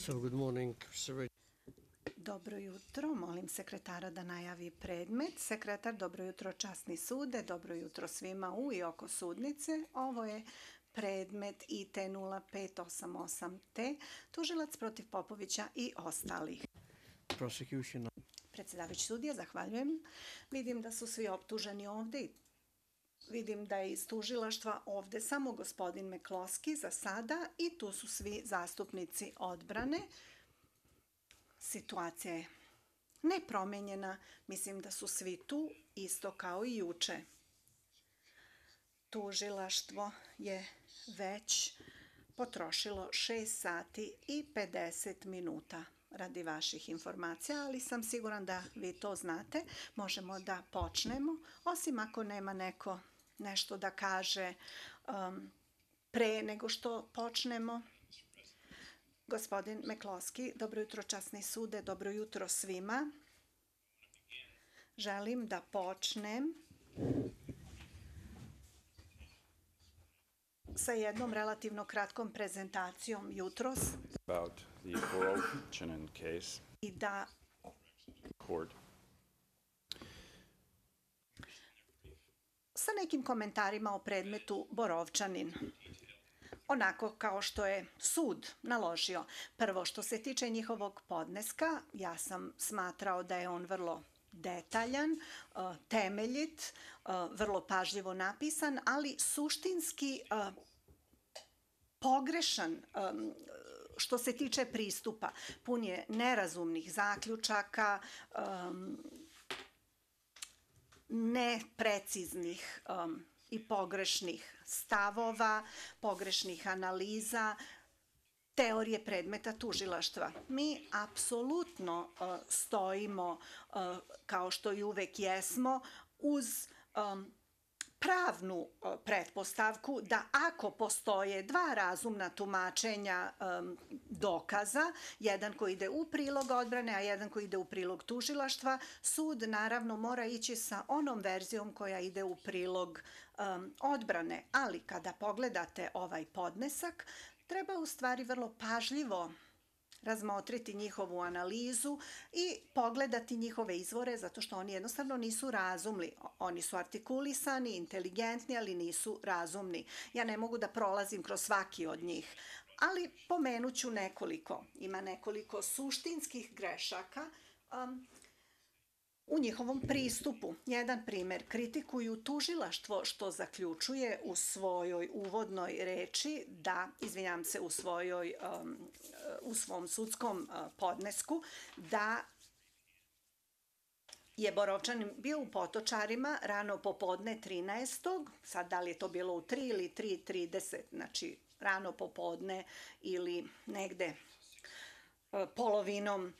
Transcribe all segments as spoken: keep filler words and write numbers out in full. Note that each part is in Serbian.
So, good morning, Sir. Dobro jutro, molim sekretara da najavi predmet. Sekretar, dobro jutro časni sude, dobro jutro svima u i oko sudnice. Ovo je predmet I T nula pet osam osam T, tužilac protiv Popovića i ostalih. Prosecution. Predsedavajući sudija, zahvaljujem. Vidim da su svi optuženi ovde i vidim da je iz tužilaštva ovde samo gospodin Mekloski za sada i tu su svi zastupnici odbrane. Situacija je nepromenjena, mislim da su svi tu, isto kao i juče. Tužilaštvo je već potrošilo šest sati i pedeset minuta radi vaših informacija, ali sam siguran da vi to znate. Možemo da počnemo, osim ako nema neko nešto da kaže um, pre nego što počnemo. Gospodin Mekloski, dobro jutro časni sude, dobro jutro svima. Želim da počnem sa jednom relativno kratkom prezentacijom jutros about the Borovčanin case i da court. sa nekim komentarima o predmetu Borovčanin. Onako kao što je sud naložio. Prvo, što se tiče njihovog podneska, ja sam smatrao da je on vrlo detaljan, temeljit, vrlo pažljivo napisan, ali suštinski pogrešan što se tiče pristupa. Pun je nerazumnih zaključaka, nepreciznih i pogrešnih stavova, pogrešnih analiza, teorije predmeta tužilaštva. Mi apsolutno stojimo, kao što i uvek jesmo, uz pravnu pretpostavku da ako postoje dva razumna tumačenja dokaza, jedan koji ide u prilog odbrane, a jedan koji ide u prilog tužilaštva, sud naravno mora ići sa onom verzijom koja ide u prilog odbrane. Ali kada pogledate ovaj podnesak, treba u stvari vrlo pažljivo razmotriti njihovu analizu i pogledati njihove izvore, zato što oni jednostavno nisu razumni. Oni su artikulisani, inteligentni, ali nisu razumni. Ja ne mogu da prolazim kroz svaki od njih, ali pomenuću nekoliko. Ima nekoliko suštinskih grešaka um, u njihovom pristupu. Jedan primer, kritikuju tužilaštvo što zaključuje u svojoj uvodnoj reči da, izvinjam se, u, svojoj, um, u svom sudskom uh, podnesku, da je Borovčanin bio u Potočarima rano popodne trinaestog sad da li je to bilo u tri ili tri trideset, znači rano popodne ili negde uh, polovinom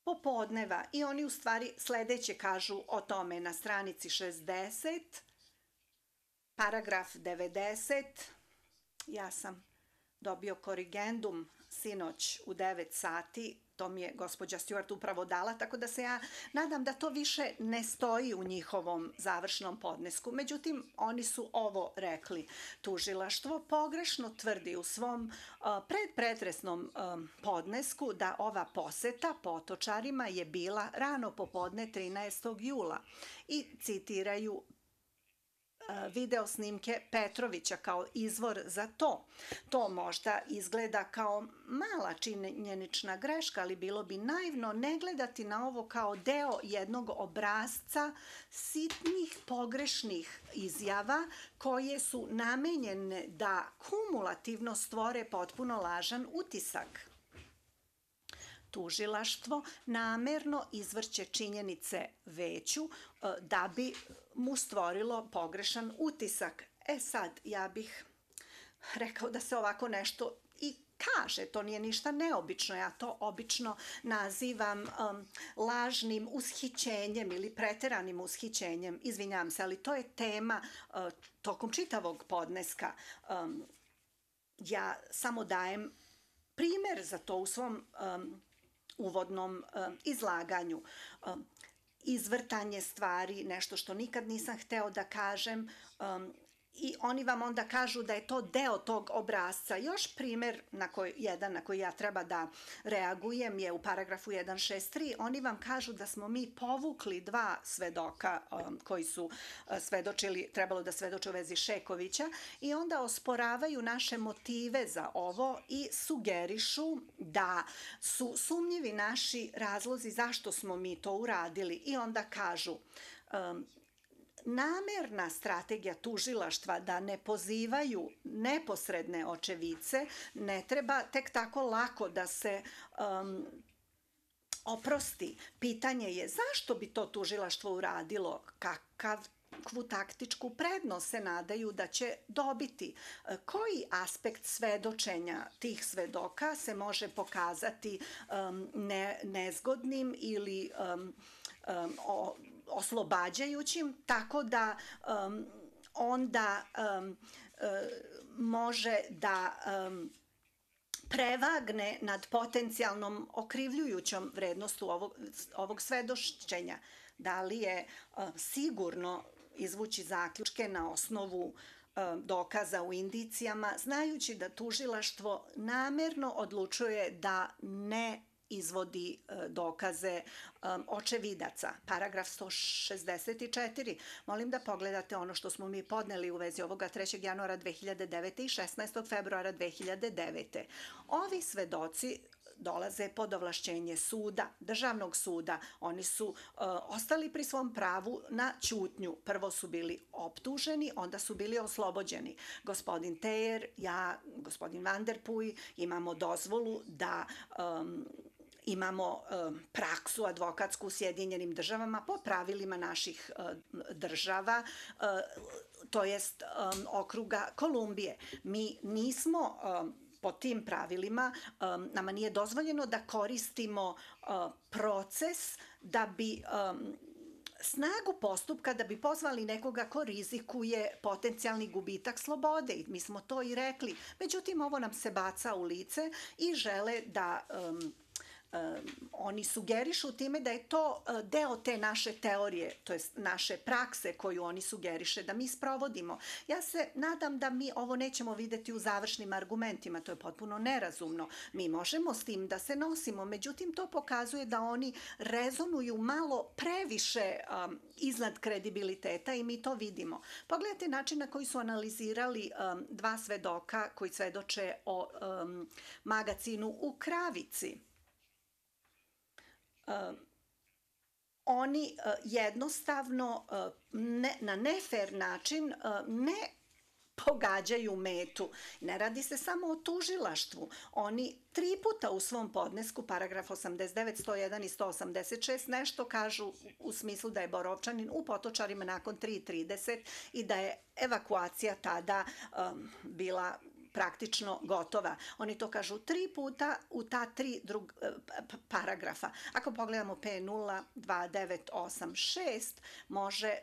popodneva i oni u stvari sledeće kažu o tome na stranici šezdeset, paragraf devedeset, ja sam dobio korigendum sinoć u devet sati, to mi je gospođa Stewart upravo dala, tako da se ja nadam da to više ne stoji u njihovom završnom podnesku. Međutim, oni su ovo rekli. Tužilaštvo pogrešno tvrdi u svom uh, predpretresnom um, podnesku da ova poseta Potočarima je bila rano popodne trinaestog jula i citiraju video snimke Petrovića kao izvor za to. To možda izgleda kao mala činjenična greška, ali bilo bi naivno ne gledati na ovo kao deo jednog obrasca sitnih pogrešnih izjava koje su namenjene da kumulativno stvore potpuno lažan utisak. Tužilaštvo namerno izvrće činjenice veću da bi mu stvorilo pogrešan utisak. E sad, ja bih rekao da se ovako nešto i kaže, to nije ništa neobično, ja to obično nazivam um, lažnim ushićenjem ili preteranim ushićenjem, izvinjam se, ali to je tema uh, tokom čitavog podneska. Um, ja samo dajem primer za to u svom um, uvodnom um, izlaganju. Um, izvrtanje stvari, nešto što nikad nisam hteo da kažem, um, i oni vam onda kažu da je to deo tog obrasca. Još primer na koji, jedan na koji ja treba da reagujem je u paragrafu jedan šest tri. Oni vam kažu da smo mi povukli dva svedoka um, koji su uh, svedočili, trebalo da svedoče u vezi Šekovića i onda osporavaju naše motive za ovo i sugerišu da su sumnjivi naši razlozi zašto smo mi to uradili i onda kažu um, namerna strategija tužilaštva da ne pozivaju neposredne očevice ne treba tek tako lako da se um, oprosti. Pitanje je zašto bi to tužilaštvo uradilo, kakav kakvu taktičku prednost se nadaju da će dobiti. Koji aspekt svedočenja tih svedoka se može pokazati um, ne, nezgodnim ili um, um, o, oslobađajućim, tako da um, onda um, uh, može da um, prevagne nad potencijalnom okrivljujućom vrednostu ovog, ovog svedočenja. Da li je uh, sigurno izvući zaključke na osnovu uh, dokaza u indicijama, znajući da tužilaštvo namerno odlučuje da ne izvodi dokaze um, očevidaca. Paragraf sto šezdeset četiri. Molim da pogledate ono što smo mi podneli u vezi ovoga trećeg januara dve hiljade devete. i šesnaestog februara dve hiljade devete. Ovi svedoci dolaze pod ovlašćenje suda, državnog suda. Oni su uh, ostali pri svom pravu na ćutnju. Prvo su bili optuženi, onda su bili oslobođeni. Gospodin Tejer, ja, gospodin Van der Puy imamo dozvolu da um, imamo um, praksu advokatsku u Sjedinjenim državama po pravilima naših uh, država, uh, to jest um, okruga Kolumbije. Mi nismo um, po tim pravilima, um, nama nije dozvoljeno da koristimo uh, proces da bi um, snagu postupka da bi pozvali nekoga ko rizikuje potencijalni gubitak slobode. I mi smo to i rekli. Međutim, ovo nam se baca u lice i žele da um, Um, oni sugerišu time da je to uh, deo te naše teorije, to jest naše prakse koju oni sugeriše da mi sprovodimo. Ja se nadam da mi ovo nećemo videti u završnim argumentima, to je potpuno nerazumno. Mi možemo s tim da se nosimo, međutim to pokazuje da oni rezonuju malo previše um, iznad kredibiliteta i mi to vidimo. Pogledajte način na koji su analizirali um, dva svedoka koji svedoče o um, magacinu u Kravici. Uh, oni uh, jednostavno uh, ne, na nefer način uh, ne pogađaju metu. Ne radi se samo o tužilaštvu. Oni tri puta u svom podnesku, paragraf osamdeset devet, sto jedan i sto osamdeset šest, nešto kažu u smislu da je Borovčanin u Potočarima nakon tri trideset i da je evakuacija tada um, bila praktično gotova. Oni to kažu tri puta u ta tri drug, paragrafa. Ako pogledamo P nula dva devet osam šest, može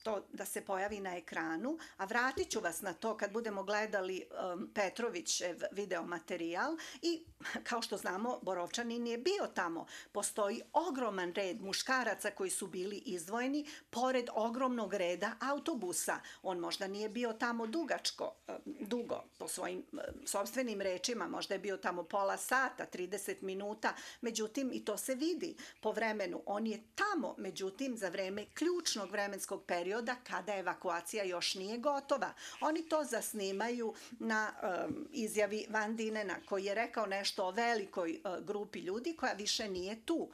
to da se pojavi na ekranu, a vratit ću vas na to kad budemo gledali um, Petrovićev videomaterijal i kao što znamo Borovčanin je bio tamo. Postoji ogroman red muškaraca koji su bili izdvojeni pored ogromnog reda autobusa. On možda nije bio tamo dugačko, dugo po svojim sopstvenim rečima, možda je bio tamo pola sata, trideset minuta, međutim i to se vidi po vremenu. On je tamo, međutim za vreme ključnog vremenskog perioda kada evakuacija još nije gotova. Oni to zasnimaju na um, izjavi Van Dinena koji je rekao nešto o velikoj uh, grupi ljudi koja više nije tu.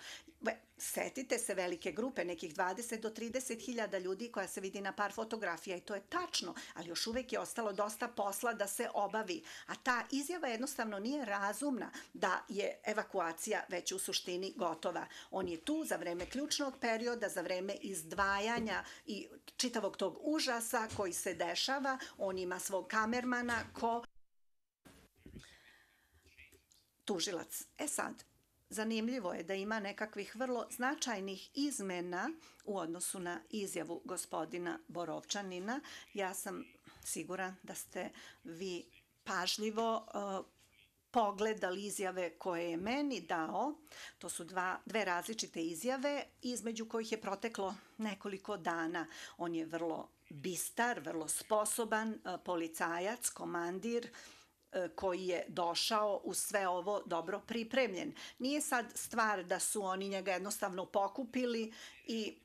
Setite se velike grupe, nekih dvadeset do trideset hiljada ljudi koja se vidi na par fotografija i to je tačno, ali još uvek je ostalo dosta posla da se obavi. A ta izjava jednostavno nije razumna da je evakuacija već u suštini gotova. On je tu za vreme ključnog perioda, za vreme izdvajanja i čitavog tog užasa koji se dešava. On ima svog kamermana ko tužilac. E sad, zanimljivo je da ima nekakvih vrlo značajnih izmena u odnosu na izjavu gospodina Borovčanina. Ja sam siguran da ste vi pažljivo uh, pogledali izjave koje je meni dao. To su dva, dve različite izjave između kojih je proteklo nekoliko dana. On je vrlo bistar, vrlo sposoban policajac, komandir koji je došao u sve ovo dobro pripremljen. Nije sad stvar da su oni njega jednostavno pokupili i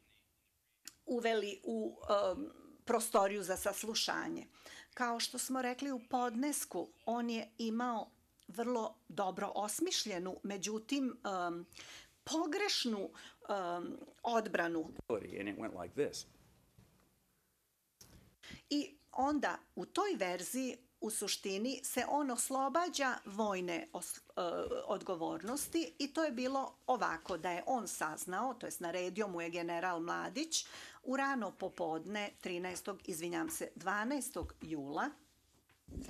uveli u um, prostoriju za saslušanje. Kao što smo rekli u podnesku, on je imao vrlo dobro osmišljenu, međutim um, pogrešnu um, odbranu. And it went like this. I onda u toj verziji u suštini se on oslobađa vojne os, uh, odgovornosti i to je bilo ovako da je on saznao, to jest naredio mu je general Mladić u rano popodne trinaestog izvinjam se, dvanaestog jula.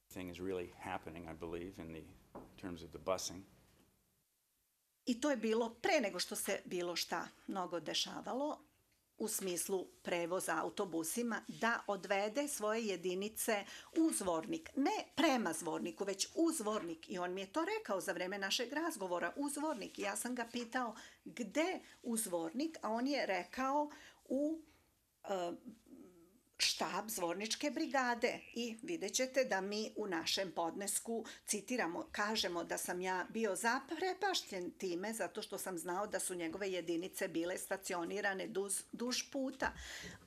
Thing is really happening, I believe, in the terms of the busing. I to je bilo pre nego što se bilo šta mnogo dešavalo u smislu prevoza autobusima, da odvede svoje jedinice u Zvornik. Ne prema Zvorniku, već u Zvornik. I on mi je to rekao za vreme našeg razgovora, u Zvornik. I ja sam ga pitao gde u Zvornik, a on je rekao u uh, štab Zvorničke brigade. I vidjet ćete da mi u našem podnesku citiramo, kažemo da sam ja bio zaprepašten time zato što sam znao da su njegove jedinice bile stacionirane duž, duž puta.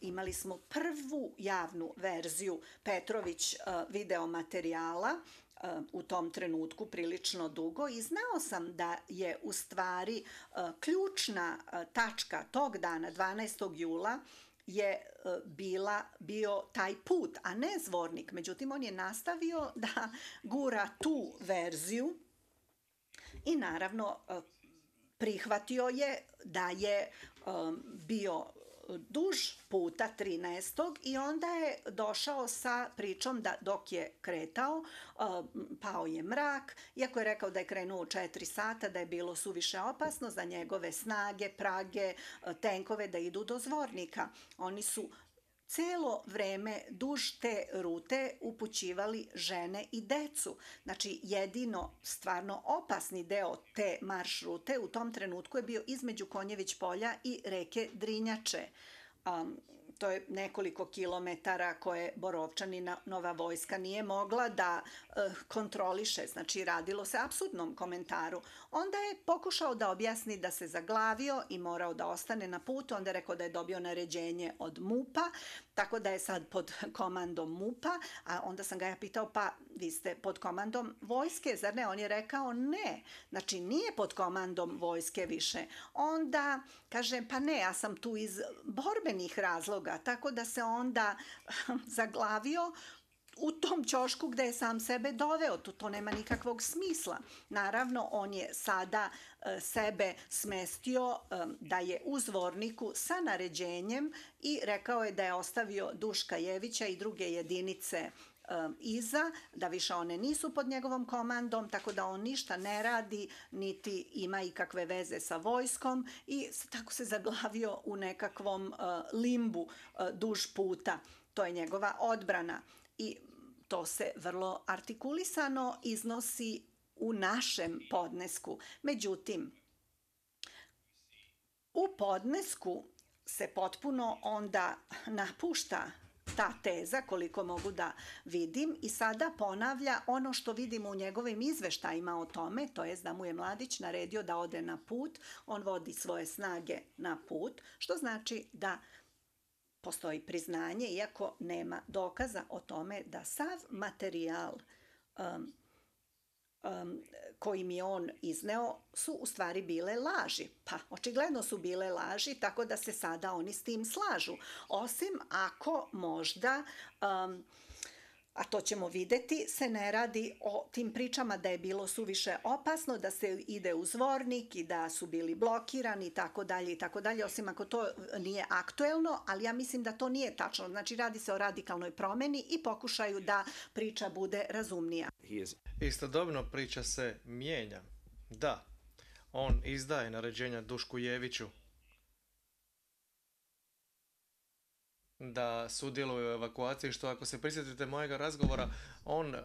Imali smo prvu javnu verziju Petrović uh, video materijala uh, u tom trenutku prilično dugo i znao sam da je u stvari uh, ključna uh, tačka tog dana, dvanaestog jula, je bila, bio taj put, a ne Zvornik. Međutim, on je nastavio da gura tu verziju i naravno prihvatio je da je bio duž puta trinaestog i onda je došao sa pričom da dok je kretao, pao je mrak, iako je rekao da je krenuo u četiri sata, da je bilo suviše opasno za njegove snage, prage, tenkove da idu do Zvornika. Oni su celo vreme duž te rute upućivali žene i decu. Znači, jedino stvarno opasni deo te marš rute u tom trenutku je bio između Konjević polja i reke Drinjače. Um, to je nekoliko kilometara koje Borovčanina Nova vojska nije mogla da uh, kontroliše, znači radilo se apsurdnom komentaru. Onda je pokušao da objasni da se zaglavio i morao da ostane na putu, onda je rekao da je dobio naređenje od MUP-a, tako da je sad pod komandom MUP-a, a onda sam ga ja pitao, pa vi ste pod komandom vojske, zar ne? On je rekao ne, znači nije pod komandom vojske više. Onda kaže, pa ne, ja sam tu iz borbenih razloga, tako da se onda zaglavio u tom ćošku gde je sam sebe doveo. To, to nema nikakvog smisla. Naravno, on je sada e, sebe smestio e, da je u Zvorniku sa naređenjem i rekao je da je ostavio Duška Jevića i druge jedinice iza, da više one nisu pod njegovom komandom, tako da on ništa ne radi, niti ima ikakve veze sa vojskom i tako se zaglavio u nekakvom uh, limbu uh, duž puta. To je njegova odbrana i to se vrlo artikulisano iznosi u našem podnesku. Međutim, u podnesku se potpuno onda napušta ta teza, koliko mogu da vidim, i sada ponavlja ono što vidimo u njegovim izveštajima o tome, to je da mu je Mladić naredio da ode na put, on vodi svoje snage na put, što znači da postoji priznanje, iako nema dokaza o tome da sav materijal um, um, koji mi je on izneo su u stvari bile laži. Pa, očigledno su bile laži, tako da se sada oni s tim slažu. Osim ako možda, um, a to ćemo videti, se ne radi o tim pričama da je bilo suviše opasno, da se ide u Zvornik i da su bili blokirani i tako dalje i tako dalje, osim ako to nije aktuelno, ali ja mislim da to nije tačno. Znači, radi se o radikalnoj promeni i pokušaju da priča bude razumnija. Istodobno priča se mijenja. Da, on izdaje naređenja Dušku Jeviću da sudjeluje u evakuaciji, što ako se prisjetite mojega razgovora, on e,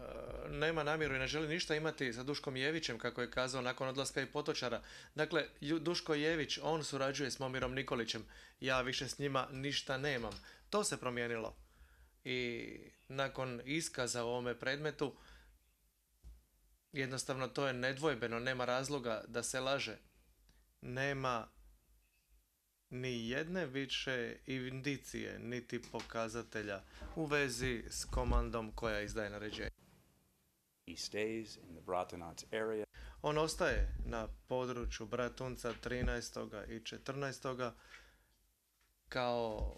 nema namjeru i ne želi ništa imati sa Duškom Jevićem, kako je kazao nakon odlaska i Potočara. Dakle, Ju- Duško Jević, on surađuje s Momirom Nikolićem. Ja više s njima ništa nemam. To se promijenilo. I nakon iskaza u ovome predmetu, jednostavno to je nedvojbeno, nema razloga da se laže. Nema ni jedne više indicije, niti pokazatelja u vezi s komandom koja izdaje naređenje. He stays in the Bratunac area. On ostaje na području Bratunca trinaestog i četrnaestog kao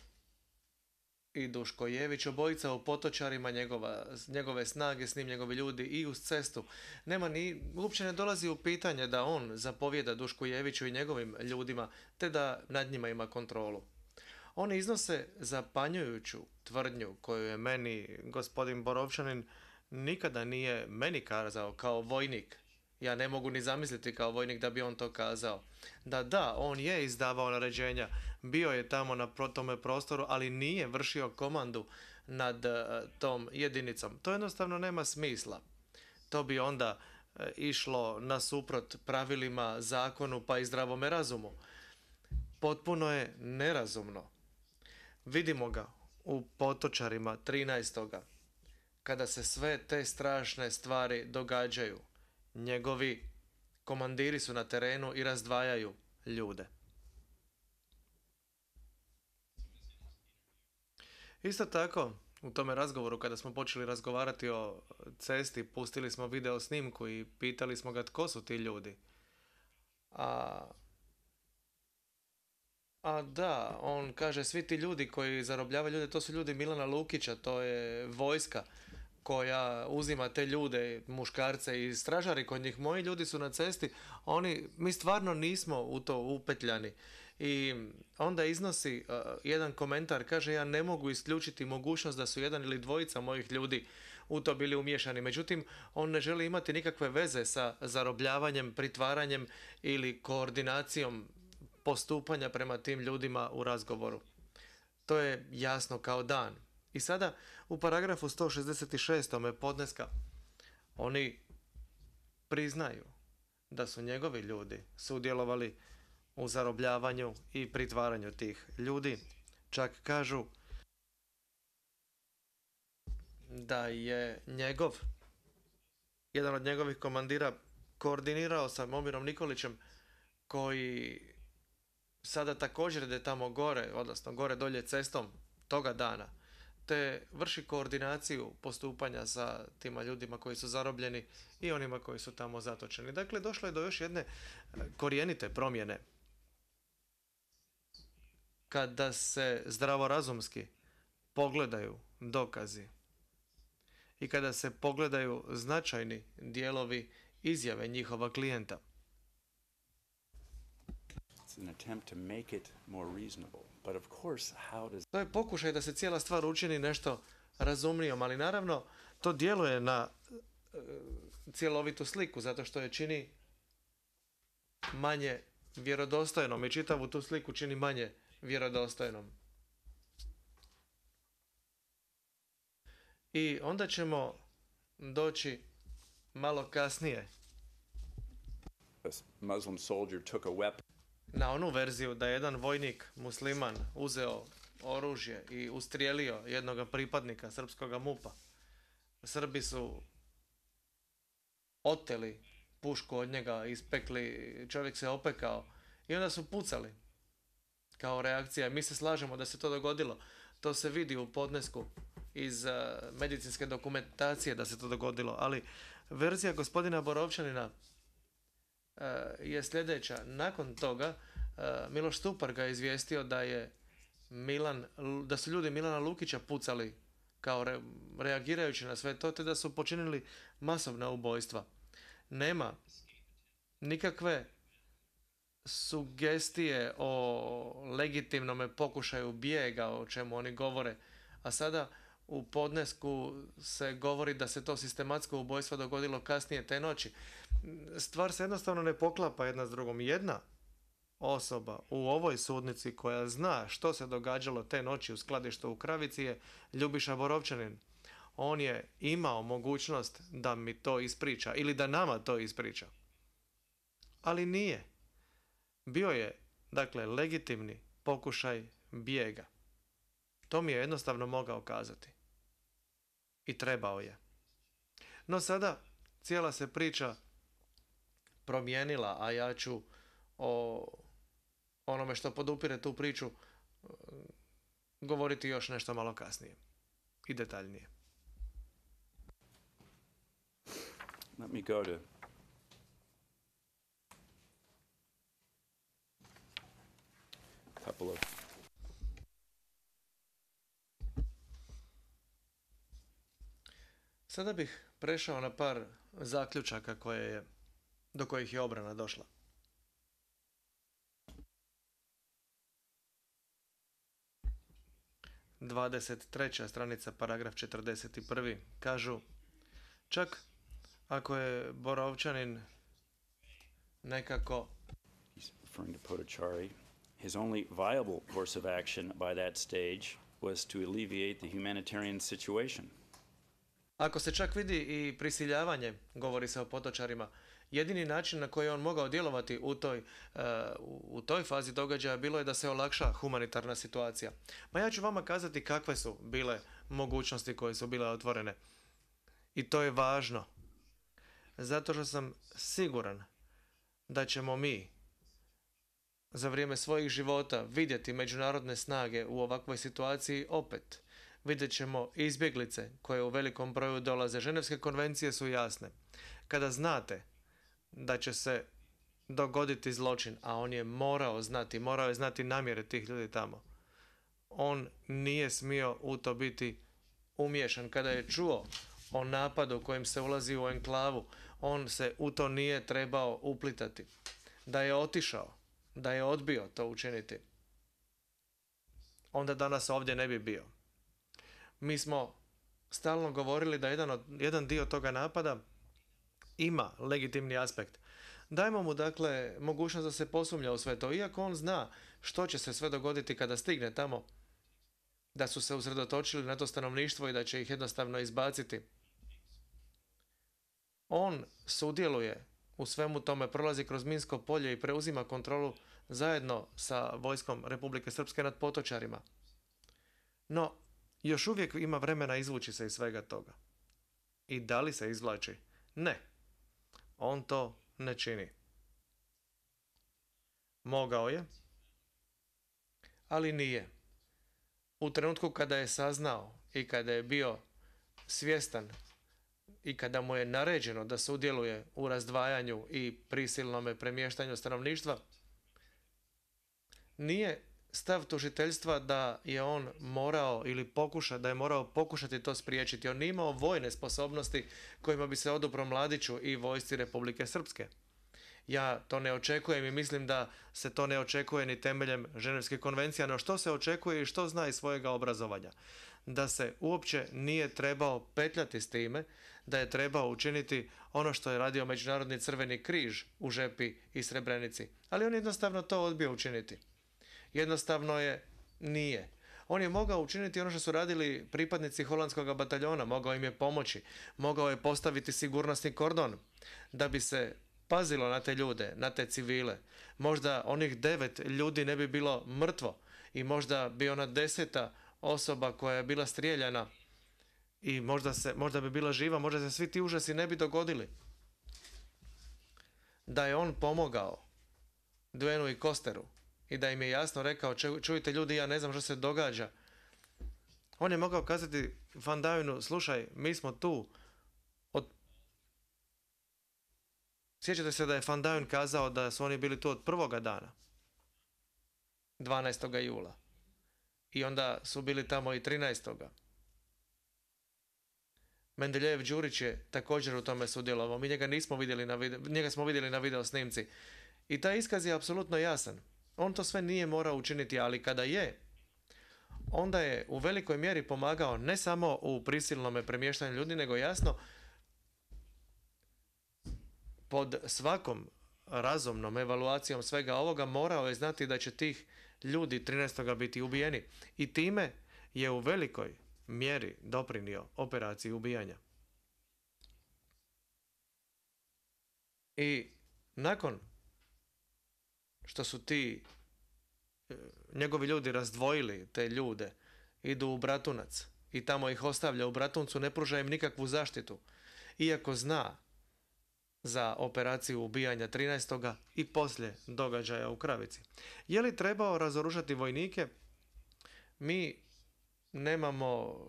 i Duško Jević, obojica u Potočarima, njegova, njegove snage, s njim njegovi ljudi i uz cestu. Nema ni, uopće ne dolazi u pitanje da on zapovjeda Dušku Jeviću i njegovim ljudima, te da nad njima ima kontrolu. Oni iznose zapanjujuću tvrdnju koju je meni gospodin Borovčanin nikada nije meni kazao kao vojnik. Ja ne mogu ni zamisliti kao vojnik da bi on to kazao. Da, da, on je izdavao naređenja, bio je tamo na pro- tome prostoru, ali nije vršio komandu nad e, tom jedinicom. To jednostavno nema smisla. To bi onda e, išlo nasuprot pravilima, zakonu pa i zdravome razumu. Potpuno je nerazumno. Vidimo ga u Potočarima trinaestog kada se sve te strašne stvari događaju. Njegovi komandiri su na terenu i razdvajaju ljude. Isto tako, u tome razgovoru kada smo počeli razgovarati o cesti, pustili smo video snimku i pitali smo ga tko su ti ljudi. A, a da, on kaže svi ti ljudi koji zarobljavaju ljude, to su ljudi Milana Lukića, to je vojska koja uzima te ljude, muškarce i stražari kod njih. Moji ljudi su na cesti, oni, mi stvarno nismo u to upetljani. I onda iznosi uh, jedan komentar, kaže ja ne mogu isključiti mogućnost da su jedan ili dvojica mojih ljudi u to bili umiješani. Međutim, on ne želi imati nikakve veze sa zarobljavanjem, pritvaranjem ili koordinacijom postupanja prema tim ljudima u razgovoru. To je jasno kao dan. I sada u paragrafu sto šezdeset šest. podneska oni priznaju da su njegovi ljudi sudjelovali u zarobljavanju i pritvaranju tih ljudi. Čak kažu da je njegov, jedan od njegovih komandira koordinirao sa Momirom Nikolićem koji sada također ide tamo gore, odnosno gore dolje cestom toga dana, te vrši koordinaciju postupanja sa tima ljudima koji su zarobljeni i onima koji su tamo zatočeni. Dakle, došlo je do još jedne korijenite promjene. Kada se zdravorazumski pogledaju dokazi i kada se pogledaju značajni dijelovi izjave njihova klijenta. It's an attempt to make it more reasonable. But of course, how does To je pokušaj da se cijela stvar učini nešto razumnijom, ali naravno to djeluje na e, cjelovitu sliku, zato što je čini manje vjerodostojnom i čitavu tu sliku čini manje vjerodostojnom. I onda ćemo doći malo kasnije a Muslim soldier took a weapon na onu verziju da je jedan vojnik musliman uzeo oružje i ustrijelio jednog pripadnika srpskog MUP-a. Srbi su oteli pušku od njega, ispekli, čovjek se opekao i onda su pucali kao reakcija. Mi se slažemo da se to dogodilo. To se vidi u podnesku iz uh, medicinske dokumentacije da se to dogodilo, ali verzija gospodina Borovčanina uh, je sljedeća. Nakon toga uh, Miloš Stupar ga je izvijestio da je Milan, da su ljudi Milana Lukića pucali kao re, reagirajući na sve to, te da su počinili masovna ubojstva. Nema nikakve sugestije o legitimnom pokušaju bijega, o čemu oni govore, a sada u podnesku se govori da se to sistematsko ubojstvo dogodilo kasnije te noći. Stvar se jednostavno ne poklapa jedna s drugom. Jedna osoba u ovoj sudnici koja zna što se događalo te noći u skladištu u Kravici je Ljubiša Borovčanin. On je imao mogućnost da mi to ispriča ili da nama to ispriča. Ali nije. Bio je, dakle, legitimni pokušaj bijega. To mi je jednostavno mogao kazati. I trebao je. No sada cijela se priča promijenila, a ja ću o onome što podupire tu priču govoriti još nešto malo kasnije i detaljnije. Let me go to a couple of Sada bih prešao na par zaključaka koje je, do kojih je obrana došla. dvadeset treća stranica, paragraf četrdeset prvi. Kažu, čak ako je Borovčanin nekako He's referring to Potocari. His only viable course of action by that stage was to alleviate the humanitarian situation. Ako se čak vidi i prisiljavanje, govori se o Potočarima, jedini način na koji je on mogao djelovati u toj, uh, u toj fazi događaja bilo je da se olakša humanitarna situacija. Ma ja ću vama kazati kakve su bile mogućnosti koje su bile otvorene. I to je važno. Zato što sam siguran da ćemo mi za vrijeme svojih života vidjeti međunarodne snage u ovakvoj situaciji opet. Vidjet ćemo izbjeglice koje u velikom broju dolaze. Ženevske konvencije su jasne. Kada znate da će se dogoditi zločin, a on je morao znati, morao je znati namjere tih ljudi tamo, on nije smio u to biti umiješan. Kada je čuo o napadu kojim se ulazi u enklavu, on se u to nije trebao uplitati. Da je otišao, da je odbio to učiniti, onda danas ovdje ne bi bio. Mi smo stalno govorili da jedan, od, jedan dio toga napada ima legitimni aspekt. Dajmo mu, dakle, mogućnost da se posumnja u sve to, iako on zna što će se sve dogoditi kada stigne tamo, da su se usredotočili na to stanovništvo i da će ih jednostavno izbaciti. On sudjeluje u svemu tome, prolazi kroz minsko polje i preuzima kontrolu zajedno sa vojskom Republike Srpske nad Potočarima. No, još uvijek ima vremena izvući se iz svega toga. I da li se izvlači? Ne. On to ne čini. Mogao je, ali nije. U trenutku kada je saznao i kada je bio svjestan i kada mu je naređeno da sudjeluje u razdvajanju i prisilnome premještanju stanovništva, nije stav tužiteljstva da je on morao ili pokuša, da je morao pokušati to spriječiti. On nije imao vojne sposobnosti kojima bi se odupro Mladiću i vojsci Republike Srpske. Ja to ne očekujem i mislim da se to ne očekuje ni temeljem Ženevske konvencije, no što se očekuje i što zna iz svojega obrazovanja? Da se uopće nije trebao petljati s time, da je trebao učiniti ono što je radio Međunarodni crveni križ u Žepi i Srebrenici. Ali on jednostavno to odbio učiniti. Jednostavno je nije. On je mogao učiniti ono što su radili pripadnici holandskog bataljona, mogao im je pomoći, mogao je postaviti sigurnosni kordon da bi se pazilo na te ljude, na te civile. Možda onih devet ljudi ne bi bilo mrtvo i možda bi ona deseta osoba koja je bila strijeljana i možda, se, možda bi bila živa, možda se svi ti užasi ne bi dogodili. Da je on pomogao Duenu i Kosteru i da im je jasno rekao, čujte ljudi, ja ne znam što se događa. On je mogao kazati Van Dijonu, slušaj, mi smo tu. Od... Sjećate se da je Van Dijen kazao da su oni bili tu od prvoga dana, dvanaestoga jula. I onda su bili tamo i trinaestoga Mendeljev Đurić je također u tome sudjelovao. Mi njega nismo vidjeli na video, njega smo vidjeli na video snimci. I taj iskaz je apsolutno jasan. On to sve nije morao učiniti, ali kada je, onda je u velikoj mjeri pomagao ne samo u prisilnome premještanju ljudi, nego jasno pod svakom razumnom evaluacijom svega ovoga morao je znati da će tih ljudi trinaestog biti ubijeni i time je u velikoj mjeri doprinio operaciji ubijanja. I nakon što su ti e, njegovi ljudi razdvojili te ljude, idu u Bratunac i tamo ih ostavlja u Bratuncu, ne pruža im nikakvu zaštitu, iako zna za operaciju ubijanja trinaestog i poslije događaja u Kravici. Je li trebao razoružati vojnike? Mi nemamo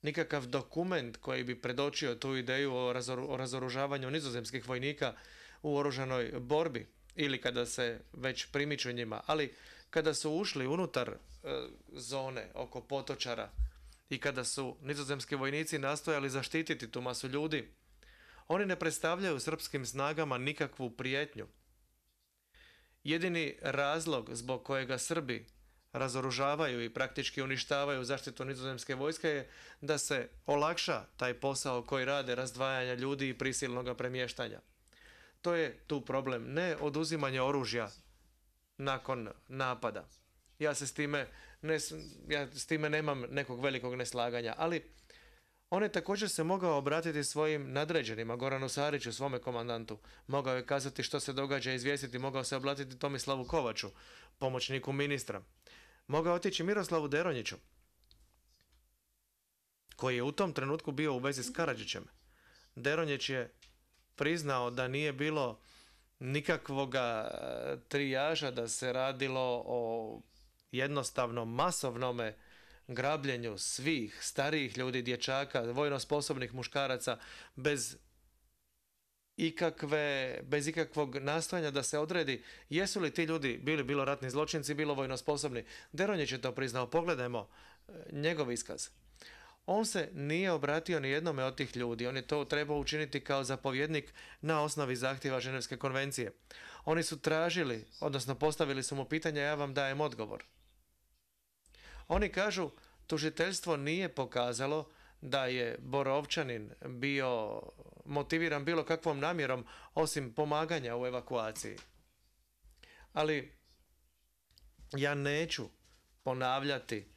nikakav dokument koji bi predočio tu ideju o, razoru, o razoružavanju nizozemskih vojnika u oružanoj borbi ili kada se već primiču njima, ali kada su ušli unutar e, zone oko Potočara i kada su nizozemski vojnici nastojali zaštititi tu masu ljudi, oni ne predstavljaju srpskim snagama nikakvu prijetnju. Jedini razlog zbog kojega Srbi razoružavaju i praktički uništavaju zaštitu nizozemske vojske je da se olakša taj posao koji rade razdvajanja ljudi i prisilnog premještanja. To je tu problem, ne oduzimanje oružja nakon napada. Ja se s time, ne, ja s time nemam nekog velikog neslaganja, ali on je također se mogao obratiti svojim nadređenima, Goranu Sariću, svome komandantu. Mogao je kazati što se događa, izvijestiti, mogao se obratiti Tomislavu Kovaču, pomoćniku ministra. Mogao otići Miroslavu Deronjiću, koji je u tom trenutku bio u vezi s Karadžićem. Deronjić je priznao da nije bilo nikakvoga trijaža, da se radilo o jednostavnom masovnome grabljenju svih starijih ljudi, dječaka, vojno sposobnih muškaraca bez ikakve, bez ikakvog nastojanja da se odredi jesu li ti ljudi bili bilo ratni zločinci, bilo vojno sposobni. Deronjić je to priznao. Pogledajmo njegov iskaz. On se nije obratio ni jednome od tih ljudi. On je to trebao učiniti kao zapovjednik na osnovi zahtjeva Ženevske konvencije. Oni su tražili, odnosno postavili su mu pitanja, ja vam dajem odgovor. Oni kažu, tužiteljstvo nije pokazalo da je Borovčanin bio motiviran bilo kakvom namjerom osim pomaganja u evakuaciji. Ali ja neću ponavljati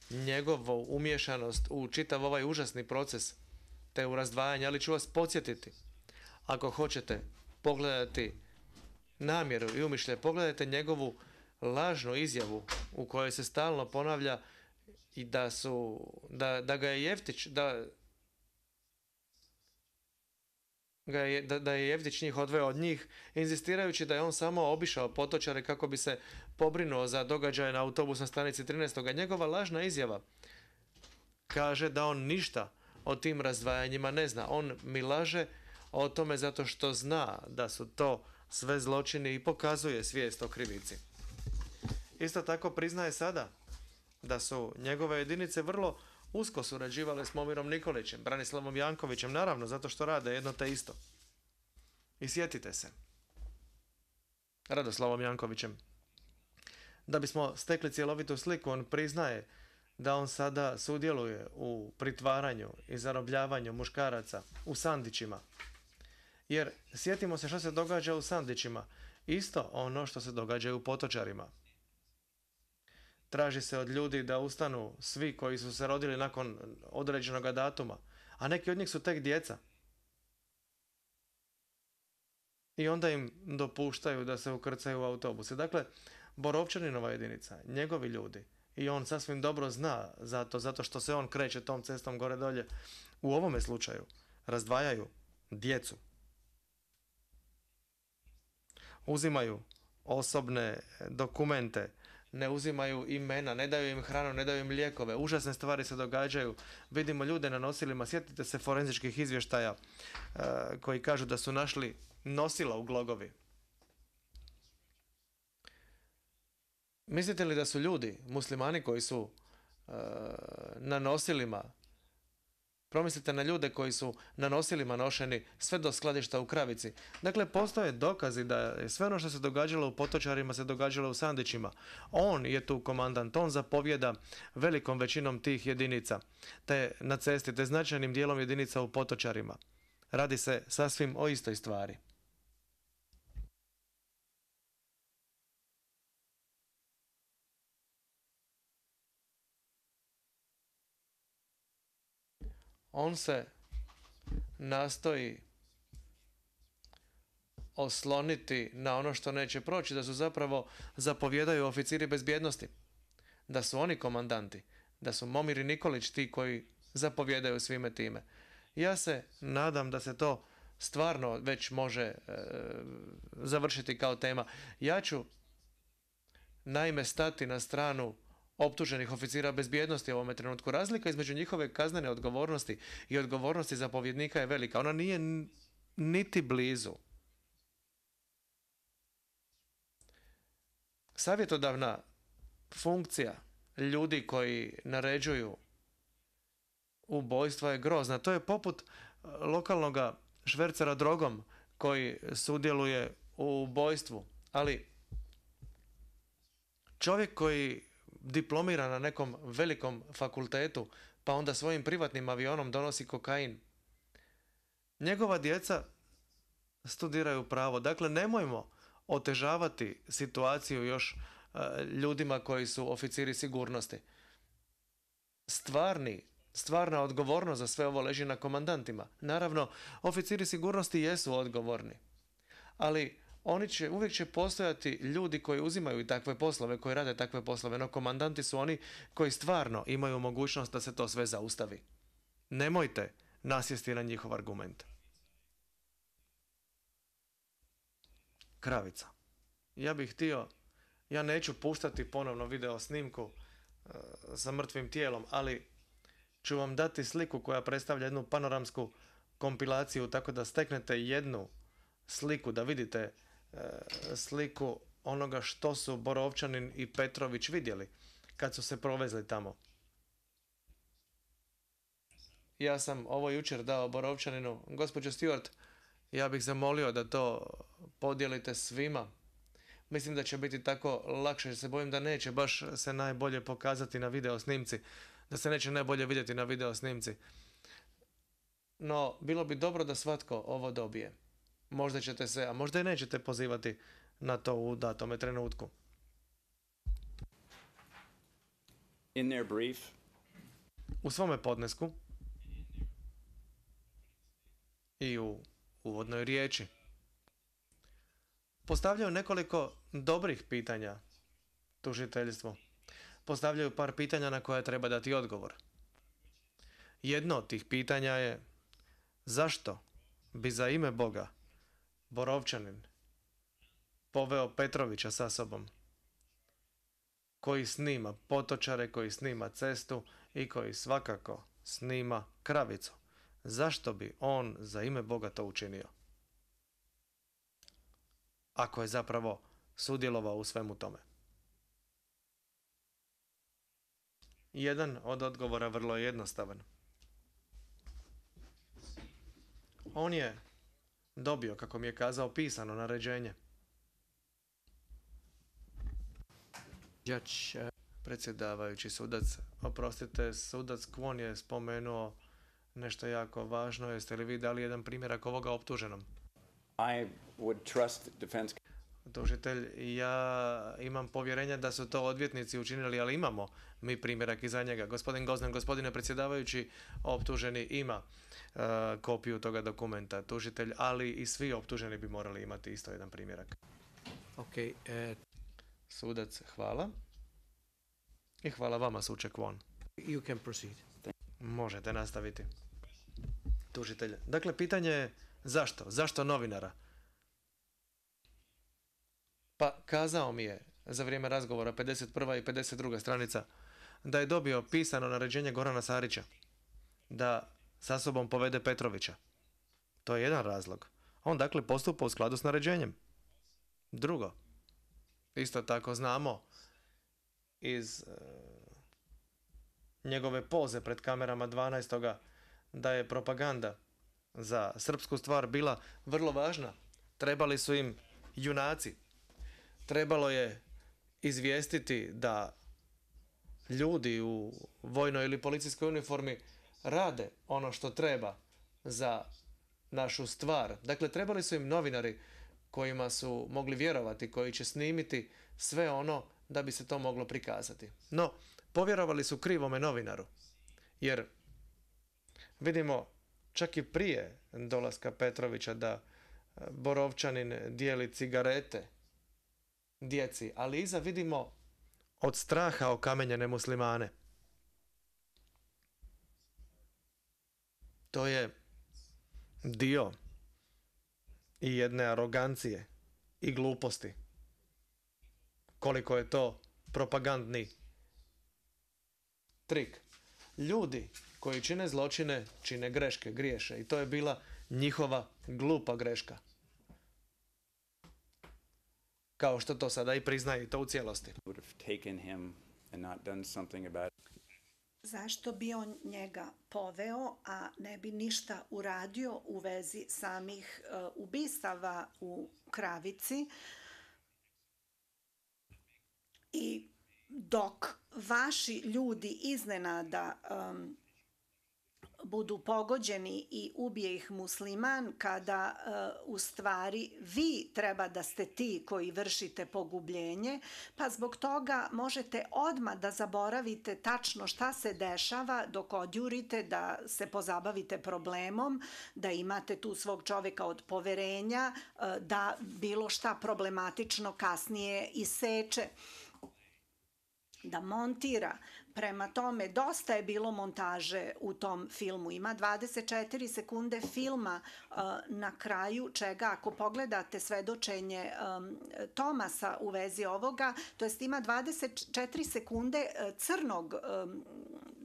njegovu umješanost u čitav ovaj užasni proces te u razdvajanje, ali ću vas podsjetiti. Ako hoćete pogledati namjeru i umišljaj, pogledajte njegovu lažnu izjavu u kojoj se stalno ponavlja i da su, da, da ga je Jeftić, da, ga je, da, da je Jeftić njih odveo od njih, inzistirajući da je on samo obišao Potočare kako bi se pobrinuo za događaje na autobusnoj stanici trinaestog Njegova lažna izjava kaže da on ništa o tim razdvajanjima ne zna. On mi laže o tome zato što zna da su to sve zločini i pokazuje svijest o krivici. Isto tako priznaje sada da su njegove jedinice vrlo usko surađivale s Momirom Nikolićem, Branislavom Jankovićem, naravno, zato što rade jedno te isto. I sjetite se, Radoslavom Jankovićem. Da bismo stekli cjelovitu sliku, on priznaje da on sada sudjeluje u pritvaranju i zarobljavanju muškaraca u Sandićima. Jer sjetimo se što se događa u Sandićima. Isto ono što se događa u Potočarima. Traži se od ljudi da ustanu svi koji su se rodili nakon određenog datuma, a neki od njih su tek djeca. I onda im dopuštaju da se ukrcaju u autobuse. Dakle, Borovčaninova jedinica, njegovi ljudi, i on sasvim dobro zna zato, zato što se on kreće tom cestom gore dolje, u ovome slučaju razdvajaju djecu. Uzimaju osobne dokumente, ne uzimaju imena, ne daju im hranu, ne daju im lijekove. Užasne stvari se događaju. Vidimo ljude na nosilima. Sjetite se forenzičkih izvještaja uh, koji kažu da su našli nosila u Glogovi. Mislite li da su ljudi, muslimani koji su uh, na nosilima, promislite na ljude koji su na nosilima nošeni sve do skladišta u Kravici. Dakle, postoje dokazi da je sve ono što se događalo u Potočarima se događalo u Sandićima. On je tu komandant, on zapovjeda velikom većinom tih jedinica, te na cesti, te značajnim dijelom jedinica u Potočarima. Radi se sasvim o istoj stvari. on se nastoji osloniti na ono što neće proći, da su zapravo zapovjedaju oficiri bezbjednosti, da su oni komandanti, da su Momir i Nikolić ti koji zapovjedaju svime time. Ja se nadam da se to stvarno već može e, završiti kao tema. Ja ću naime stati na stranu optuženih oficira bezbjednosti u ovome trenutku. Razlika između njihove kaznene odgovornosti i odgovornosti zapovjednika je velika. Ona nije niti blizu. Savjetodavna funkcija ljudi koji naređuju ubojstva je grozna. To je poput lokalnog švercera drogom koji sudjeluje u ubojstvu. Ali čovjek koji diplomira na nekom velikom fakultetu, pa onda svojim privatnim avionom donosi kokain, njegova djeca studiraju pravo. Dakle, nemojmo otežavati situaciju još e, ljudima koji su oficiri sigurnosti. Stvarni, stvarna odgovornost za sve ovo leži na komandantima. Naravno, oficiri sigurnosti jesu odgovorni, ali oni će, uvijek će postojati ljudi koji uzimaju takve poslove, koji rade takve poslove, no komandanti su oni koji stvarno imaju mogućnost da se to sve zaustavi. Nemojte nasjesti na njihov argument. Kravica. Ja bih htio, ja neću puštati ponovno video snimku uh, sa mrtvim tijelom, ali ću vam dati sliku koja predstavlja jednu panoramsku kompilaciju, tako da steknete jednu sliku, da vidite uh, sliku onoga što su Borovčanin i Petrović vidjeli kad su se provezli tamo. Ja sam ovo jučer dao Borovčaninu. Gospođo Stewart, ja bih zamolio da to podijelite svima. Mislim da će biti tako lakše, jer se bojim da neće baš se najbolje pokazati na video snimci. Da se neće najbolje vidjeti na video snimci. No, bilo bi dobro da svatko ovo dobije. Možda ćete se, a možda i nećete pozivati na to u datome trenutku. In their brief, U svome podnesku i u uvodnoj riječi postavljaju nekoliko dobrih pitanja tužiteljstvu. Postavljaju par pitanja na koja treba dati odgovor. Jedno od tih pitanja je: zašto bi za ime Boga Borovčanin poveo Petrovića sa sobom, koji snima potočare, koji snima cestu i koji svakako snima kravicu? Zašto bi on za ime Boga to učinio, ako je zapravo sudjelovao u svemu tome? Jedan od odgovora vrlo je jednostavan. On je dobio, kako mi je kazao, pisano naređenje. Judge, uh, Predsjedavajući sudac, oprostite, sudac Kwon je spomenuo nešto jako važno. Jeste li vi dali jedan primjerak ovoga optuženom? I would trust defense. Tužitelj, ja imam povjerenja da su to odvjetnici učinili, ali imamo mi primjerak iza njega. Gospodin Goznan, gospodine predsjedavajući, optuženi ima uh, kopiju toga dokumenta. Tužitelj, ali i svi optuženi bi morali imati isto jedan primjerak. okay, uh, Sudac, hvala. I hvala vama, suče Kwon. you can proceed. Možete nastaviti. Tužitelj. Dakle, pitanje je zašto? Zašto novinara? Pa kazao mi je za vrijeme razgovora pedeset prva i pedeset druga stranica da je dobio pisano naređenje Gorana Sarića da sa sobom povede Petrovića. To je jedan razlog. On dakle postupa u skladu s naređenjem. Drugo, isto tako znamo iz e, njegove poze pred kamerama dvanaestoga da je propaganda za srpsku stvar bila vrlo važna. Trebali su im junaci. Trebalo je izvijestiti da ljudi u vojnoj ili policijskoj uniformi rade ono što treba za našu stvar. Dakle, trebali su im novinari kojima su mogli vjerovati, koji će snimiti sve ono da bi se to moglo prikazati. No, povjerovali su krivome novinaru, jer Vidimo čak i prije dolaska Petrovića da Borovčanin dijeli cigarete djeci, ali iza vidimo od straha okamenjene muslimane. To je dio i jedne arogancije i gluposti. Koliko je to propagandni trik. Ljudi koji čine zločine, čine greške, griješe. I to je bila njihova glupa greška. Kao što to sada i priznaju i to u cijelosti. Would have taken him and not done something about it. Zašto bi on njega poveo, a ne bi ništa uradio u vezi samih uh, ubistava u Kravici? I dok vaši ljudi iznenada um, budu pogođeni i ubije ih musliman, kada uh, u stvari vi treba da ste ti koji vršite pogubljenje, pa zbog toga možete odmah da zaboravite tačno šta se dešava dok odjurite da se pozabavite problemom, da imate tu svog čoveka od poverenja, uh, da bilo šta problematično kasnije iseče, da montira. Prema tome, dosta je bilo montaže u tom filmu. Ima dvadeset četiri sekunde filma uh, na kraju čega, ako pogledate svedočenje um, Tomasa u vezi ovoga, to jest ima dvadeset četiri sekunde uh, crnog um,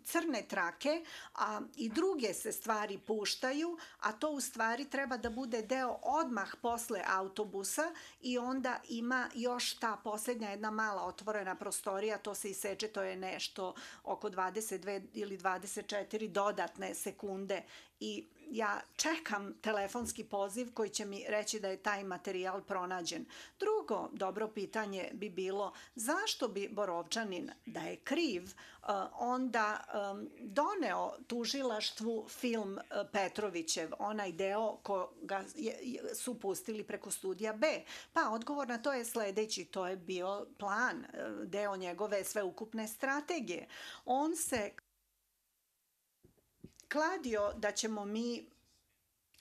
crne trake, a i druge se stvari puštaju, a to u stvari treba da bude deo odmah posle autobusa i onda ima još ta posljednja jedna mala otvorena prostorija, to se iseče, to je nešto oko dvadeset dve ili dvadeset četiri dodatne sekunde i ja čekam telefonski poziv koji će mi reći da je taj materijal pronađen. Drugo dobro pitanje bi bilo zašto bi Borovčanin, da je kriv, onda doneo tužilaštvu film Petrovićev, onaj deo koga su pustili preko studija B. Pa odgovor na to je sledeći, to je bio plan, deo njegove sveukupne strategije. On se kladio da ćemo mi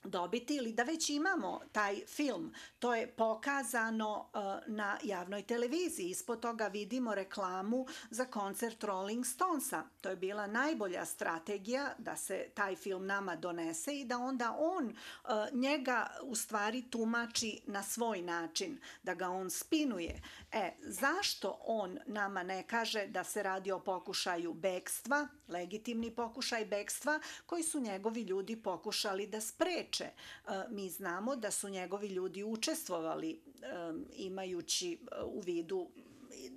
dobiti ili da već imamo taj film. To je pokazano uh, na javnoj televiziji. Ispod toga vidimo reklamu za koncert Rolling Stonesa. To je bila najbolja strategija da se taj film nama donese i da onda on uh, njega u stvari tumači na svoj način, da ga on spinuje. E, zašto on nama ne kaže da se radi o pokušaju bekstva, legitimni pokušaj bekstva, koji su njegovi ljudi pokušali da spreče? Mi znamo da su njegovi ljudi učestvovali imajući u vidu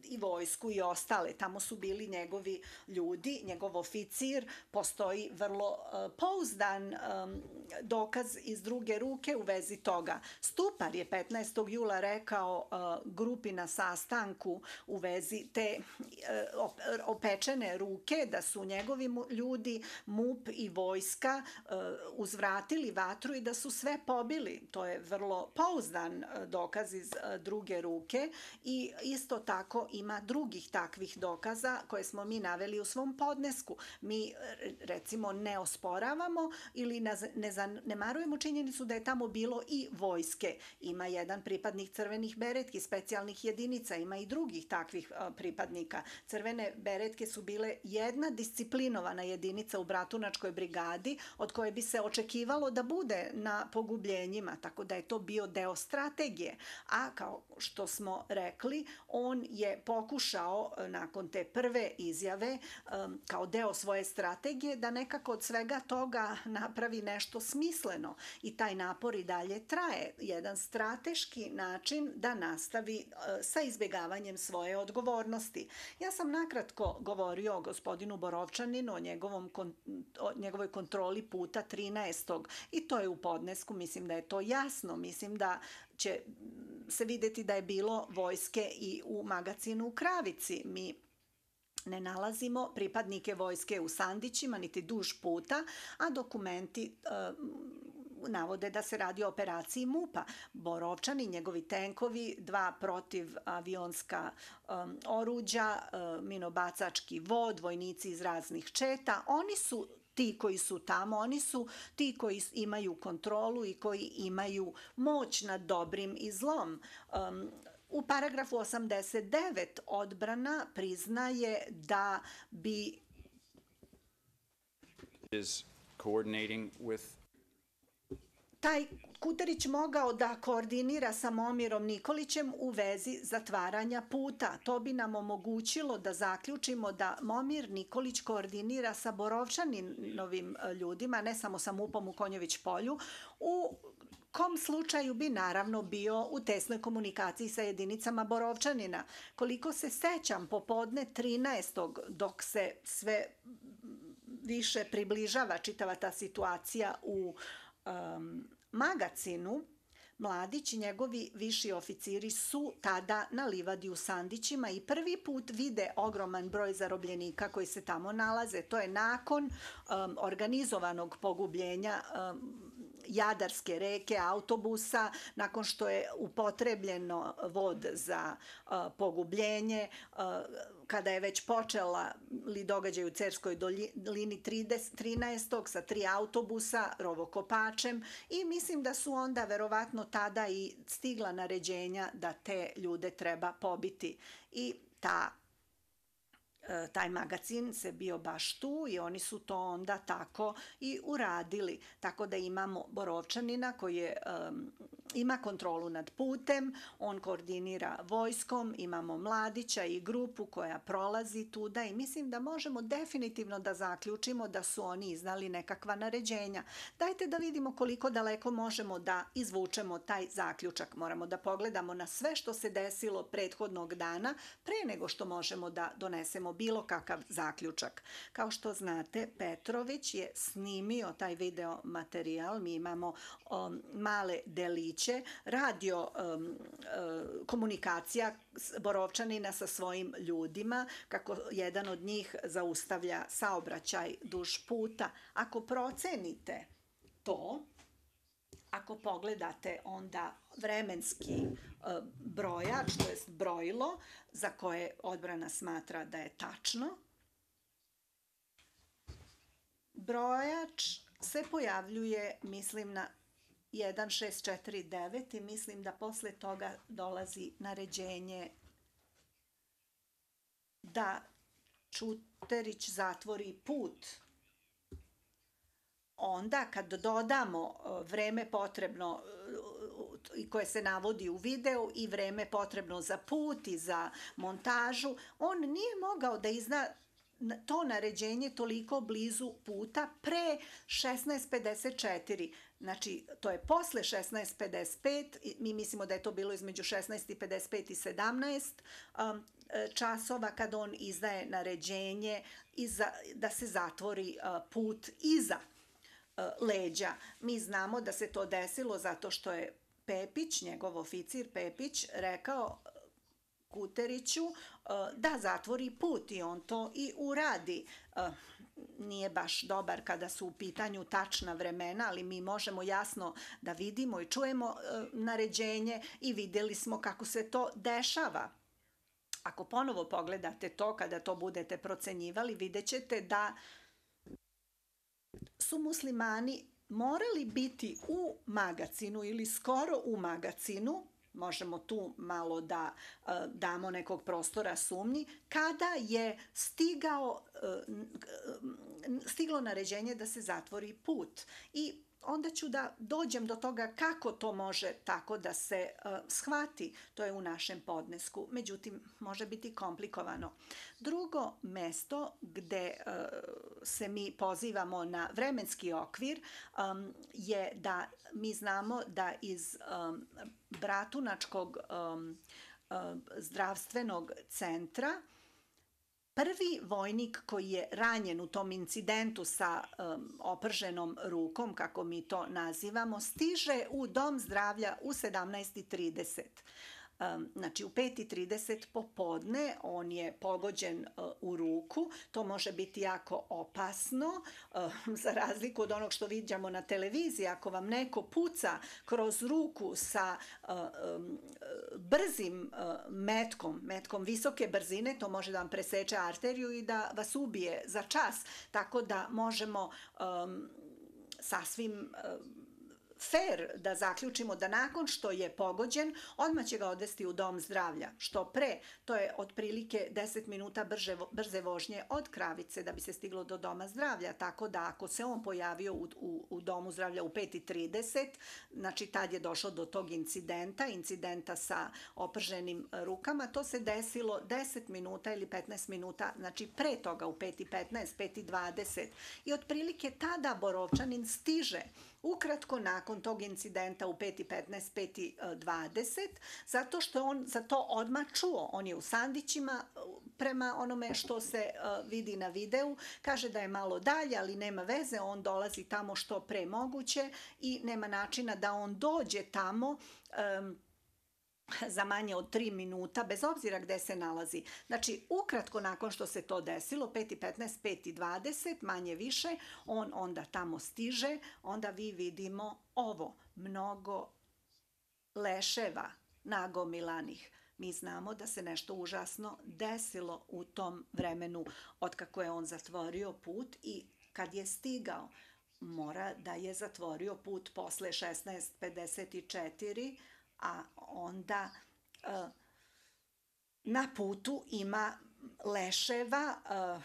i vojsku i ostale. Tamo su bili njegovi ljudi, njegov oficir, postoji vrlo uh, pouzdan um, dokaz iz druge ruke u vezi toga. Stupar je petnaestog jula rekao uh, grupi na sastanku u vezi te uh, opečene ruke da su njegovi ljudi, MUP i vojska uh, uzvratili vatru i da su sve pobili. To je vrlo pouzdan uh, dokaz iz uh, druge ruke i isto tako ima drugih takvih dokaza koje smo mi naveli u svom podnesku. Mi recimo ne osporavamo ili ne zanemarujemo činjenicu da je tamo bilo i vojske. Ima jedan pripadnik crvenih beretki, specijalnih jedinica, ima i drugih takvih pripadnika. Crvene beretke su bile jedna disciplinovana jedinica u Bratunačkoj brigadi od koje bi se očekivalo da bude na pogubljenjima, tako da je to bio deo strategije. A kao što smo rekli, on je pokušao nakon te prve izjave kao deo svoje strategije da nekako od svega toga napravi nešto smisleno i taj napor i dalje traje. Jedan strateški način da nastavi sa izbjegavanjem svoje odgovornosti. Ja sam nakratko govorio o gospodinu Borovčaninu, o, njegovom, o njegovoj kontroli puta trinaestog i to je u podnesku, mislim da je to jasno, mislim da će se vidjeti da je bilo vojske i u magazinu u Kravici. Mi ne nalazimo pripadnike vojske u Sandićima, niti duž puta, a dokumenti uh, navode da se radi o operaciji MUP-a. Borovčani, njegovi tenkovi, dva protivavionska um, oruđa, uh, minobacački vod, vojnici iz raznih četa, oni su ti koji su tamo, oni su ti koji imaju kontrolu i koji imaju moć nad dobrim i zlom. Um, u paragrafu osamdeset devet odbrana priznaje da bi is coordinating with taj Kuterić mogao da koordinira sa Momirom Nikolićem u vezi zatvaranja puta. To bi nam omogućilo da zaključimo da Momir Nikolić koordinira sa Borovčaninovim ljudima, ne samo sa MUP-om u Konjović polju, u kom slučaju bi naravno bio u tesnoj komunikaciji sa jedinicama Borovčanina. Koliko se sećam, popodne trinaestog dok se sve više približava čitava ta situacija u um, Magacinu, Mladić i njegovi viši oficiri su tada na livadi u Sandićima i prvi put vide ogroman broj zarobljenika koji se tamo nalaze. To je nakon um, organizovanog pogubljenja um, Jadarske reke, autobusa, nakon što je upotrebljeno vod za uh, pogubljenje, uh, kada je već počela li događaj u Cerskoj dolini trinaestog sa tri autobusa, rovokopačem, i mislim da su onda verovatno tada i stigla naređenja da te ljude treba pobiti. I ta taj magacin se bio baš tu i oni su to onda tako i uradili. Tako da imamo Borovčanina koji je, um, ima kontrolu nad putem, on koordinira vojskom, imamo Mladića i grupu koja prolazi tuda i mislim da možemo definitivno da zaključimo da su oni iznali nekakva naređenja. Dajte da vidimo koliko daleko možemo da izvučemo taj zaključak. Moramo da pogledamo na sve što se desilo prethodnog dana pre nego što možemo da donesemo bilo kakav zaključak. Kao što znate, Petrović je snimio taj video materijal, mi imamo um, male deliće, radio um, uh, komunikacija Borovčanina sa svojim ljudima, kako jedan od njih zaustavlja saobraćaj duž puta. Ako procenite to, ako pogledate onda vremenski uh, brojač, to jest brojilo, za koje odbrana smatra da je tačno, brojač se pojavljuje, mislim, na jedan šest četiri devet i mislim da posle toga dolazi naređenje da Čuterić zatvori put. Onda kad dodamo vreme potrebno i koje se navodi u videu i vreme potrebno za put i za montažu, on nije mogao da izda to naređenje toliko blizu puta pre šesnaest pedeset četiri. Znači, to je posle šesnaest pedeset pet, mi mislimo da je to bilo između šesnaest pedeset pet i sedamnaest um, časova kad on izdaje naređenje iza, da se zatvori uh, put iza uh, leđa. Mi znamo da se to desilo zato što je Pepić, njegov oficir Pepić, rekao Kuteriću da zatvori put i on to i uradi. Nije baš dobar kada su u pitanju tačna vremena, ali mi možemo jasno da vidimo i čujemo naređenje i vidjeli smo kako se to dešava. Ako ponovo pogledate to, kada to budete procenjivali, vidjet ćete da su muslimani morali biti u Magacinu ili skoro u Magacinu, možemo tu malo da uh, damo nekog prostora sumnji, kada je stigao, uh, stiglo naređenje da se zatvori put. I onda ću da dođem do toga kako to može tako da se uh, shvati. To je u našem podnesku. Međutim, može biti komplikovano. Drugo mesto gde uh, se mi pozivamo na vremenski okvir um, je da mi znamo da iz um, Bratunačkog um, uh, zdravstvenog centra prvi vojnik koji je ranjen u tom incidentu sa um, oprženom rukom, kako mi to nazivamo, stiže u dom zdravlja u sedamnaest trideset. Um, znači u pet i trideset popodne on je pogođen uh, u ruku. To može biti jako opasno, uh, za razliku od onog što viđamo na televiziji. Ako vam neko puca kroz ruku sa uh, um, brzim uh, metkom, metkom visoke brzine, to može da vam preseče arteriju i da vas ubije za čas. Tako da možemo um, sasvim um, fair da zaključimo da nakon što je pogođen, odmah će ga odvesti u dom zdravlja. Što pre, to je otprilike deset minuta brže, brze vožnje od Kravice da bi se stiglo do doma zdravlja. Tako da ako se on pojavio u, u, u domu zdravlja u pet i trideset, znači tad je došlo do tog incidenta, incidenta sa oprženim rukama, to se desilo deset minuta ili petnaest minuta, znači pre toga u pet i petnaest, pet i dvadeset. I otprilike tada Borovčanin stiže ukratko nakon tog incidenta u pet i petnaest, pet i dvadeset, zato što on za to odmah čuo. On je u sandićima prema onome što se vidi na videu. Kaže da je malo dalje, ali nema veze, on dolazi tamo što pre moguće i nema načina da on dođe tamo um, za manje od tri minuta, bez obzira gde se nalazi. Znači, ukratko nakon što se to desilo, pet i petnaest, pet i dvadeset, manje više, on onda tamo stiže, onda vi vidimo ovo, mnogo leševa nagomilanih. Mi znamo da se nešto užasno desilo u tom vremenu otkako je on zatvorio put i kad je stigao, mora da je zatvorio put posle šesnaest pedeset četiri, a onda uh, na putu ima leševa uh,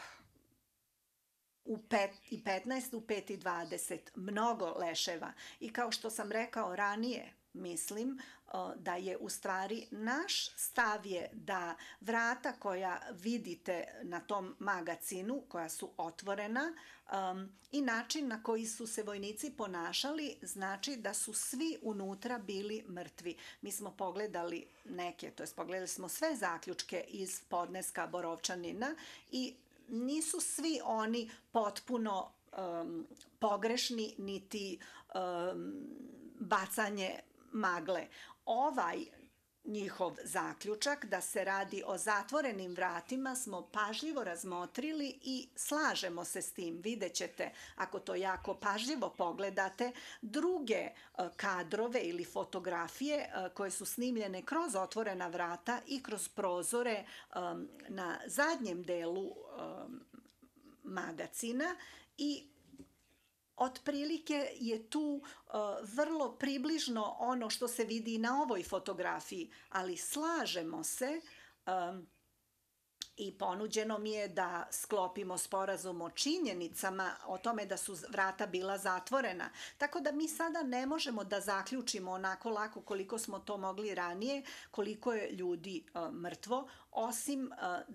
u pet i petnaest, u pet i dvadeset, mnogo leševa. I kao što sam rekao ranije, mislim uh, da je u stvari naš stav je da vrata koja vidite na tom magacinu, koja su otvorena, um, i način na koji su se vojnici ponašali, znači da su svi unutra bili mrtvi. Mi smo pogledali neke, to jest pogledali smo sve zaključke iz podneska Borovčanina i nisu svi oni potpuno um, pogrešni, niti um, bacanje magle. Ovaj njihov zaključak da se radi o zatvorenim vratima smo pažljivo razmotrili i slažemo se s tim. Vidjet ćete, ako to jako pažljivo pogledate, druge kadrove ili fotografije koje su snimljene kroz otvorena vrata i kroz prozore na zadnjem delu magacina i otprilike je tu uh, vrlo približno ono što se vidi na ovoj fotografiji, ali slažemo se um, i ponuđeno mi je da sklopimo sporazum o činjenicama o tome da su vrata bila zatvorena. Tako da mi sada ne možemo da zaključimo onako lako koliko smo to mogli ranije, koliko je ljudi uh, mrtvo, osim uh,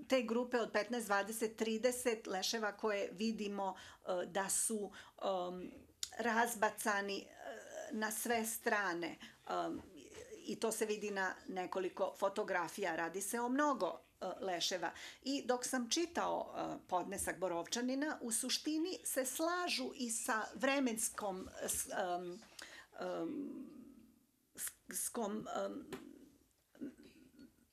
te grupe od petnaest, dvadeset, trideset leševa koje vidimo uh, da su um, razbacani uh, na sve strane. Um, I to se vidi na nekoliko fotografija. Radi se o mnogo uh, leševa. I dok sam čitao uh, podnesak Borovčanina, u suštini se slažu i sa vremenskom um, um, skom, um,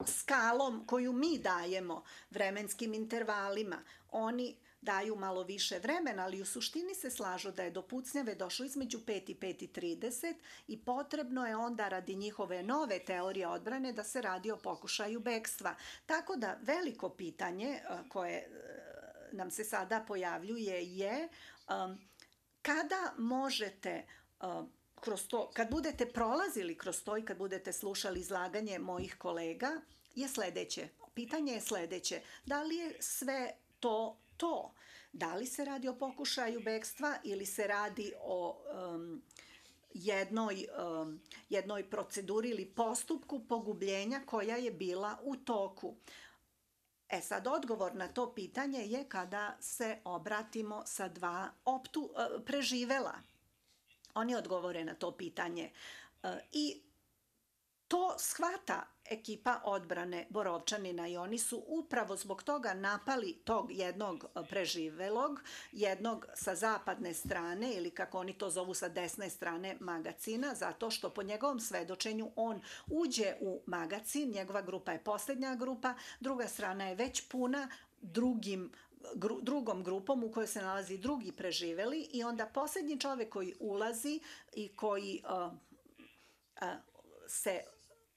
skalom koju mi dajemo, vremenskim intervalima. Oni daju malo više vremena, ali u suštini se slažu da je do pucnjave došlo između pet i pet i trideset i potrebno je onda radi njihove nove teorije odbrane da se radi o pokušaju bekstva. Tako da veliko pitanje koje nam se sada pojavljuje je um, kada možete um, kroz to, kad budete prolazili kroz to i kad budete slušali izlaganje mojih kolega, je sledeće. Pitanje je sledeće. Da li je sve to to? Da li se radi o pokušaju bekstva ili se radi o um, jednoj, um, jednoj proceduri ili postupku pogubljenja koja je bila u toku? E sad, odgovor na to pitanje je kada se obratimo sa dva optu, uh, preživela. Oni odgovore na to pitanje. Uh, I to shvata ekipa odbrane Borovčanina i oni su upravo zbog toga napali tog jednog preživelog, jednog sa zapadne strane ili kako oni to zovu sa desne strane magacina, zato što po njegovom svedočenju on uđe u magacin, njegova grupa je posljednja grupa, druga strana je već puna drugim Gru, drugom grupom u kojoj se nalazi drugi preživeli i onda posljednji čovjek koji ulazi i koji uh, uh, se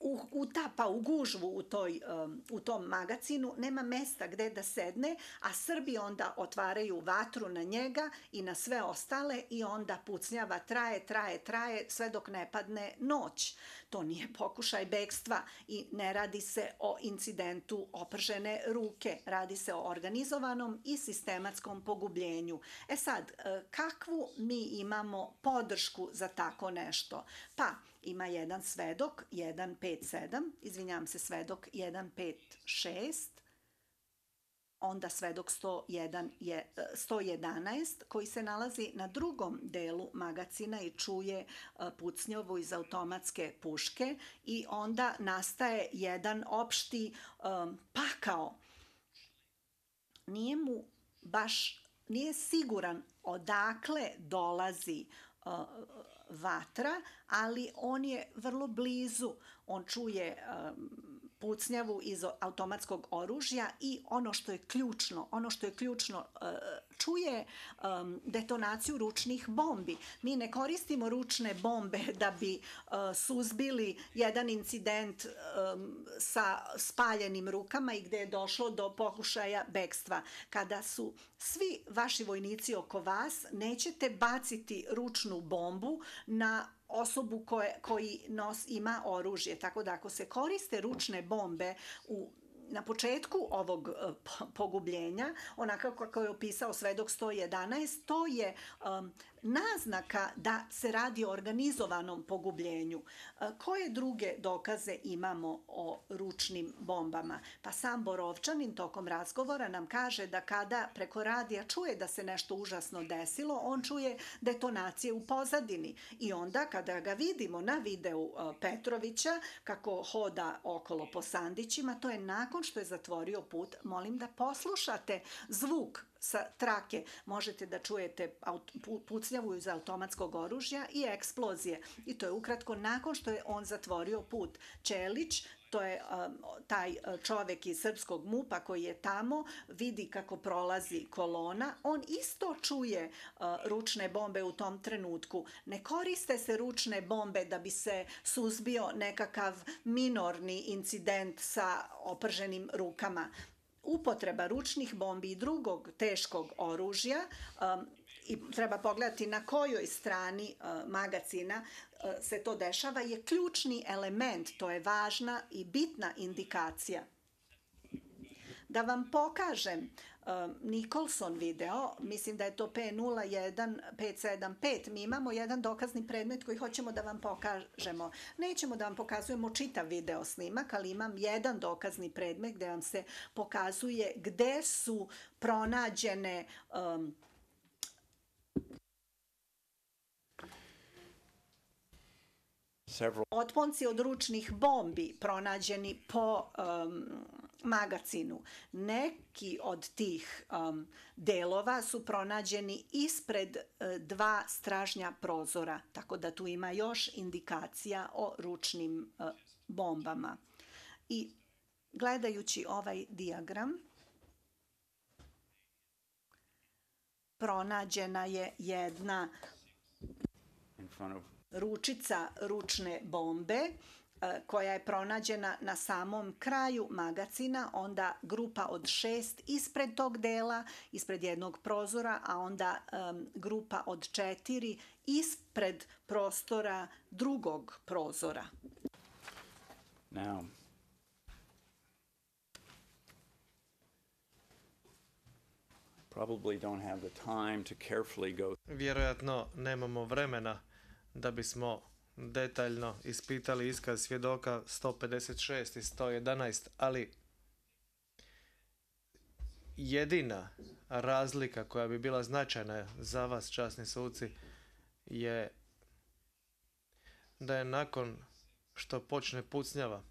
u, utapa u gužvu u, toj, um, u tom magacinu, nema mesta gdje da sedne, a Srbi onda otvaraju vatru na njega i na sve ostale i onda pucnjava traje, traje, traje sve dok ne padne noć. To nije pokušaj bekstva i ne radi se o incidentu opržene ruke, radi se o organizovanom i sistematskom pogubljenju. E sad, kakvu mi imamo podršku za tako nešto? Pa, ima jedan svedok, jedan pet sedam, izvinjam se, svedok jedan pet šest, onda svedok sto jedan, sto jedanaest, koji se nalazi na drugom delu magacina i čuje pucnjovu iz automatske puške i onda nastaje jedan opšti um, pakao. Nije mu baš, nije siguran odakle dolazi uh, vatra, ali on je vrlo blizu. On čuje um, pucnjavu iz automatskog oružja i ono što je ključno, ono što je ključno uh, čuje um, detonaciju ručnih bombi. Mi ne koristimo ručne bombe da bi uh, suzbili jedan incident um, sa spaljenim rukama i gdje je došlo do pokušaja bekstva. Kada su svi vaši vojnici oko vas, nećete baciti ručnu bombu na osobu koje, koji nos ima oružje. Tako da ako se koriste ručne bombe u na početku ovog pogubljenja, onako kako je opisao svedok sto jedanaest, to je um, naznaka da se radi o organizovanom pogubljenju. Koje druge dokaze imamo o ručnim bombama? Pa sam Borovčanin tokom razgovora nam kaže da kada preko radija čuje da se nešto užasno desilo, on čuje detonacije u pozadini. I onda kada ga vidimo na videu Petrovića kako hoda okolo po sandićima, to je nakon što je zatvorio put. Molim da poslušate zvuk sa trake. Možete da čujete pucnjavu iz automatskog oružja i eksplozije. I to je ukratko nakon što je on zatvorio put. Čelić, to je um, taj čovjek iz srpskog MUP-a koji je tamo, vidi kako prolazi kolona. On isto čuje uh, ručne bombe u tom trenutku. Ne koriste se ručne bombe da bi se suzbio nekakav minorni incident sa oprženim rukama. Upotreba ručnih bombi i drugog teškog oružja, um, i treba pogledati na kojoj strani uh, magacina uh, se to dešava, je ključni element, to je važna i bitna indikacija. Da vam pokažem um, Nicholson video, mislim da je to P nula jedan pet sedam pet, mi imamo jedan dokazni predmet koji hoćemo da vam pokažemo. Nećemo da vam pokazujemo čitav video snimak, ali imam jedan dokazni predmet gdje vam se pokazuje gde su pronađene um, otponci od ručnih bombi pronađeni po um, magacinu. Neki od tih um, delova su pronađeni ispred uh, dva stražnja prozora, tako da tu ima još indikacija o ručnim uh, bombama. I gledajući ovaj dijagram, pronađena je jedna ručica ručne bombe koja je pronađena na samom kraju magacina, onda grupa od šest ispred tog dela, ispred jednog prozora, a onda um, grupa od četiri ispred prostora drugog prozora. Now, probably don't have the time to carefully go. Vjerojatno nemamo vremena da bismo detaljno ispitali iskaz svjedoka sto pedeset šest i sto jedanaest, ali jedina razlika koja bi bila značajna za vas, časni suci, je da je nakon što počne pucnjava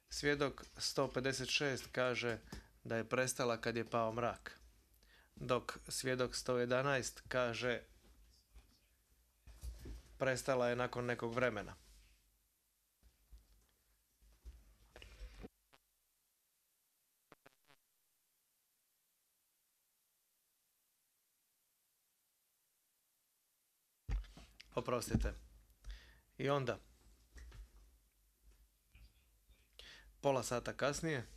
Svjedok sto pedeset šest kaže da je prestala kad je pao mrak, dok svjedok sto jedanaest kaže prestala je nakon nekog vremena. Oprostite. I onda, pola sata kasnije,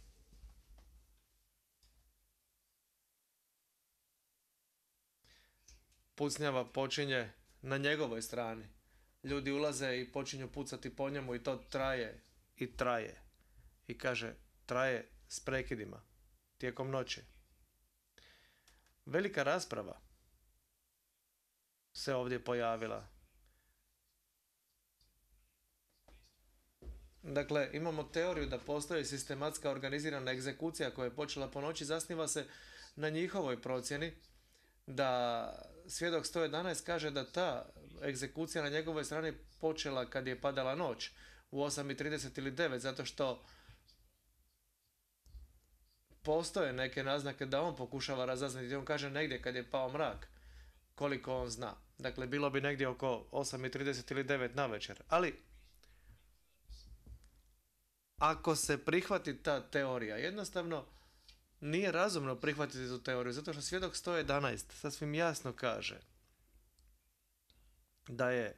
pucnjava počinje na njegovoj strani. Ljudi ulaze i počinju pucati po njemu i to traje i traje. I kaže, traje s prekidima, tijekom noći. Velika rasprava se ovdje pojavila. Dakle, imamo teoriju da postoji sistematska organizirana egzekucija koja je počela po noći, zasniva se na njihovoj procjeni da svjedok sto jedanaest kaže da ta egzekucija na njegovoj strani počela kad je padala noć u osam i trideset ili devet, zato što postoje neke naznake da on pokušava razaznati. On kaže negdje kad je pao mrak, koliko on zna. Dakle, bilo bi negdje oko osam i trideset ili devet na večer. Ali, ako se prihvati ta teorija, jednostavno nije razumno prihvatiti tu teoriju, zato što svjedok sto jedanaest sasvim jasno kaže da je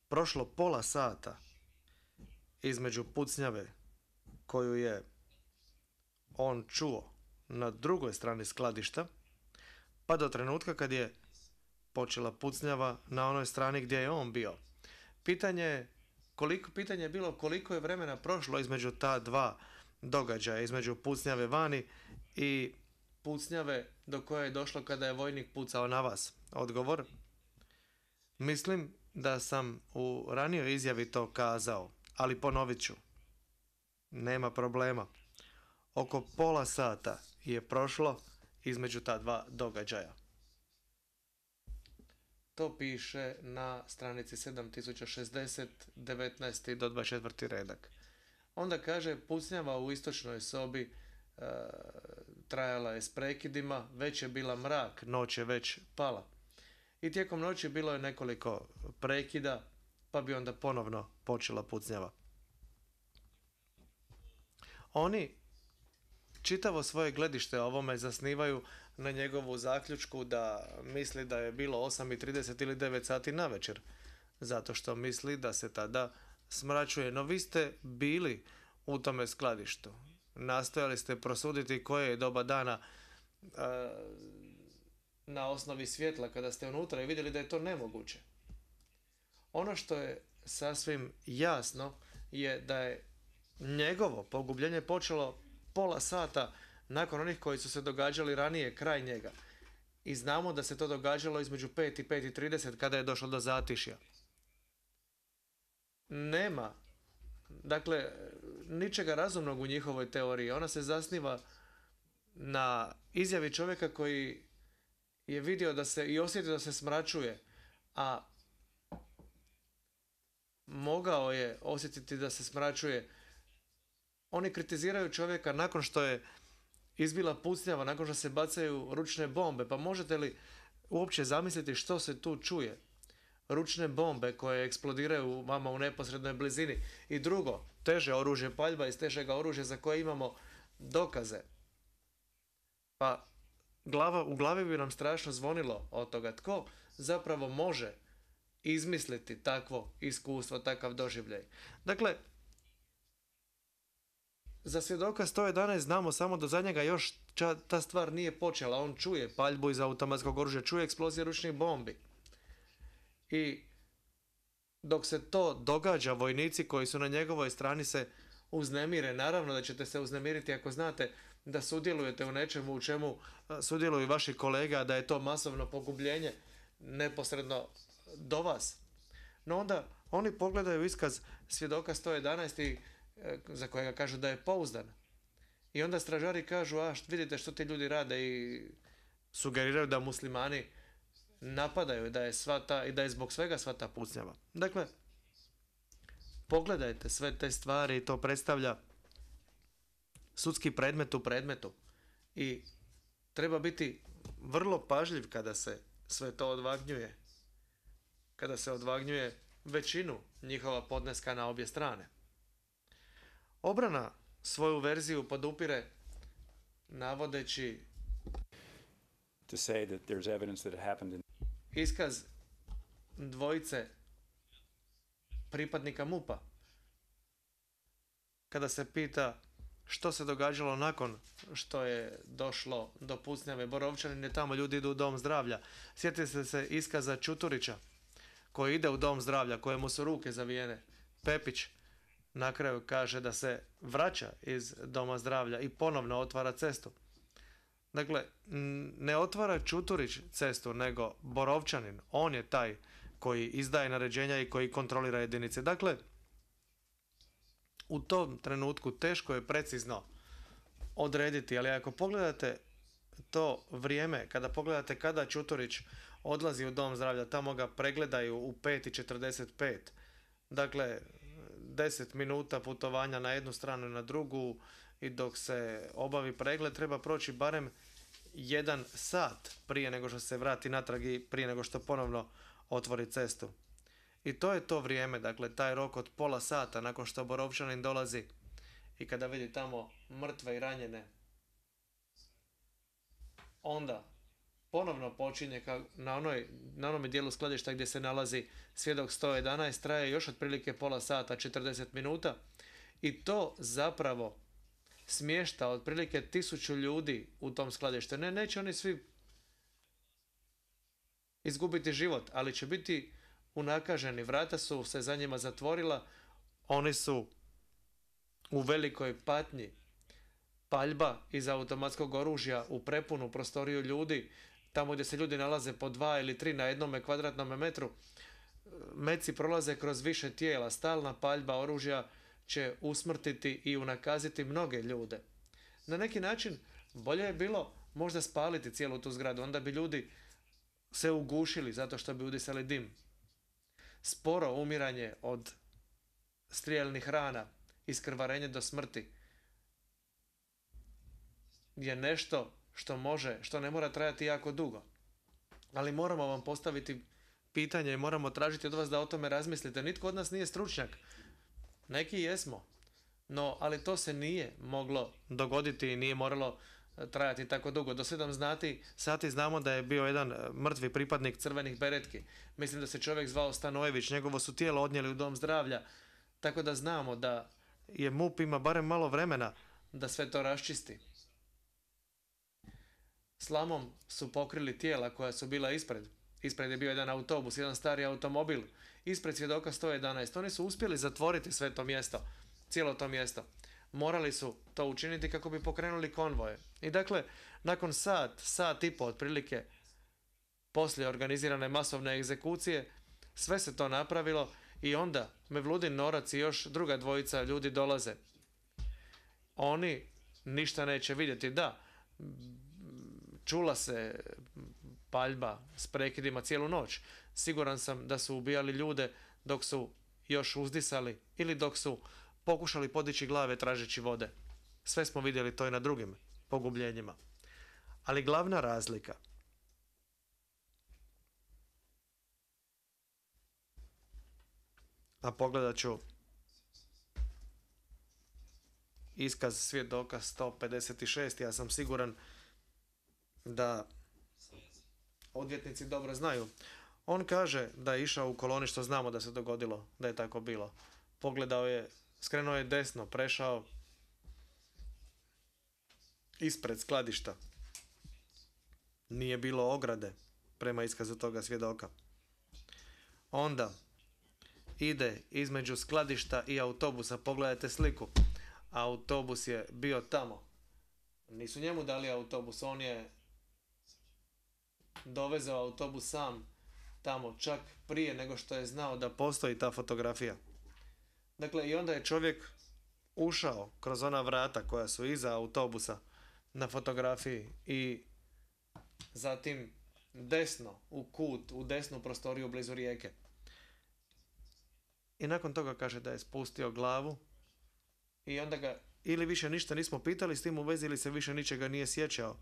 prošlo pola sata između pucnjave koju je on čuo na drugoj strani skladišta, pa do trenutka kad je počela pucnjava na onoj strani gdje je on bio. Pitanje je koliko, pitanje je bilo koliko je vremena prošlo između ta dva događaja, između pucnjave vani i pucnjave do koje je došlo kada je vojnik pucao na vas. Odgovor? Mislim da sam u ranijoj izjavi to kazao, ali ponovit ću. Nema problema. Oko pola sata je prošlo između ta dva događaja. To piše na stranici sedam tisuća šezdeset, devetnaesti do dvadeset četvrti redak. Onda kaže, pucnjava u istočnoj sobi e, trajala je s prekidima, već je bila mrak, noć je već pala. I tijekom noći bilo je nekoliko prekida, pa bi onda ponovno počela pucnjava. Oni čitavo svoje gledište o ovome zasnivaju na njegovu zaključku da misli da je bilo osam i trideset ili devet sati na večer, zato što misli da se tada smračuje. No vi ste bili u tome skladištu. Nastojali ste prosuditi koje je doba dana a, na osnovi svjetla kada ste unutra i vidjeli da je to nemoguće. Ono što je sasvim jasno je da je njegovo pogubljenje počelo pola sata nakon onih koji su se događali ranije kraj njega. I znamo da se to događalo između pet i pet i trideset kada je došlo do zatišja. Nema, dakle, ničega razumnog u njihovoj teoriji. Ona se zasniva na izjavi čovjeka koji je vidio da se i osjetio da se smračuje, a mogao je osjetiti da se smračuje. Oni kritiziraju čovjeka nakon što je izbila pucnjava, nakon što se bacaju ručne bombe. Pa možete li uopće zamisliti što se tu čuje? Ručne bombe koje eksplodiraju vama u neposrednoj blizini. I drugo, teže oružje, paljba iz težega oružja za koje imamo dokaze. Pa glava, u glavi bi nam strašno zvonilo od toga. Tko zapravo može izmisliti takvo iskustvo, takav doživljaj? Dakle, za svjedoka sto jedanaest znamo samo do zadnjega još ča, ta stvar nije počela. On čuje paljbu iz automatskog oružja, čuje eksplozije ručnih bombi. I dok se to događa, vojnici koji su na njegovoj strani se uznemire. Naravno da ćete se uznemiriti ako znate da sudjelujete u nečemu u čemu sudjeluju vaši kolege, a da je to masovno pogubljenje neposredno do vas. No onda oni pogledaju iskaz svjedoka sto jedanaest i za kojega kažu da je pouzdan. I onda stražari kažu, a vidite što ti ljudi rade, i sugeriraju da muslimani napadaju, da je sva ta, i da je zbog svega sva ta pucnjava. Dakle, pogledajte sve te stvari i to predstavlja sudski predmet u predmetu. I treba biti vrlo pažljiv kada se sve to odvagnjuje. Kada se odvagnjuje većinu njihova podneska na obje strane. Obrana svoju verziju podupire navodeći To say that there's evidence that it happened in iskaz dvojice pripadnika MUP-a. Kada se pita što se događalo nakon što je došlo do pucnjave Borovčanine, tamo ljudi idu u dom zdravlja. Sjetite se iskaza Čuturića koji ide u dom zdravlja, kojemu su ruke zavijene. Pepić na kraju kaže da se vraća iz doma zdravlja i ponovno otvara cestu. Dakle, ne otvara Čuturić cestu, nego Borovčanin. On je taj koji izdaje naređenja i koji kontrolira jedinice. Dakle, u tom trenutku teško je precizno odrediti, ali ako pogledate to vrijeme, kada pogledate kada Čuturić odlazi u dom zdravlja, tamo ga pregledaju u pet i četrdeset pet. Dakle, deset minuta putovanja na jednu stranu i na drugu i dok se obavi pregled treba proći barem jedan sat prije nego što se vrati natrag i prije nego što ponovno otvori cestu. I to je to vrijeme, dakle taj rok od pola sata nakon što Borovčanin dolazi i kada vidi tamo mrtve i ranjene, onda ponovno počinje ka, na, onoj, na onome dijelu skladišta gdje se nalazi svjedok sto jedanaest, traje još otprilike pola sata, četrdeset minuta i to zapravo smješta otprilike tisuću ljudi u tom skladištu. Ne, neće oni svi izgubiti život, ali će biti unakaženi. Vrata su se za njima zatvorila, oni su u velikoj patnji. Paljba iz automatskog oružja u prepunu prostoriju ljudi, tamo gdje se ljudi nalaze po dva ili tri na jednome kvadratnom metru, meci prolaze kroz više tijela. Stalna paljba oružja će usmrtiti i unakaziti mnoge ljude. Na neki način bolje je bilo možda spaliti cijelu tu zgradu, onda bi ljudi se ugušili zato što bi udisali dim. Sporo umiranje od strijelnih rana, iskrvarenje do smrti je nešto što može, što ne mora trajati jako dugo. Ali moramo vam postaviti pitanje i moramo tražiti od vas da o tome razmislite. Nitko od nas nije stručnjak. Neki jesmo. No, ali to se nije moglo dogoditi i nije moralo trajati tako dugo. Do sedam znati, sati znamo da je bio jedan mrtvi pripadnik crvenih beretki. Mislim da se čovjek zvao Stanojević. Njegovo su tijelo odnijeli u dom zdravlja. Tako da znamo da je MUP ima barem malo vremena da sve to raščisti. Slamom su pokrili tijela koja su bila ispred. Ispred je bio jedan autobus, jedan stari automobil. Ispred svjedoka sto jedanaest. Oni su uspjeli zatvoriti sve to mjesto. Cijelo to mjesto. Morali su to učiniti kako bi pokrenuli konvoje. I dakle, nakon sat, sat i po otprilike, poslije organizirane masovne egzekucije, sve se to napravilo i onda Mevludin Norac i još druga dvojica ljudi dolaze. Oni ništa neće vidjeti. Da, čula se paljba s prekidima cijelu noć. Siguran sam da su ubijali ljude dok su još uzdisali ili dok su pokušali podići glave tražeći vode. Sve smo vidjeli to i na drugim pogubljenjima. Ali glavna razlika a pogledat ću iskaz svjedoka sto pedeset šest. Ja sam siguran da odvjetnici dobro znaju. On kaže da je išao u koloni, što znamo da se dogodilo, da je tako bilo. Pogledao je, skrenuo je desno, prešao ispred skladišta. Nije bilo ograde prema iskazu toga svjedoka. Onda ide između skladišta i autobusa. Pogledajte sliku. Autobus je bio tamo. Nisu njemu dali autobus, on je dovezao autobus sam tamo, čak prije nego što je znao da postoji ta fotografija. Dakle, i onda je čovjek ušao kroz ona vrata koja su iza autobusa na fotografiji i zatim desno u kut, u desnu prostoriju blizu rijeke. I nakon toga kaže da je spustio glavu i onda ga ili više ništa nismo pitali s tim u vezi ili se više ničega nije sjećao.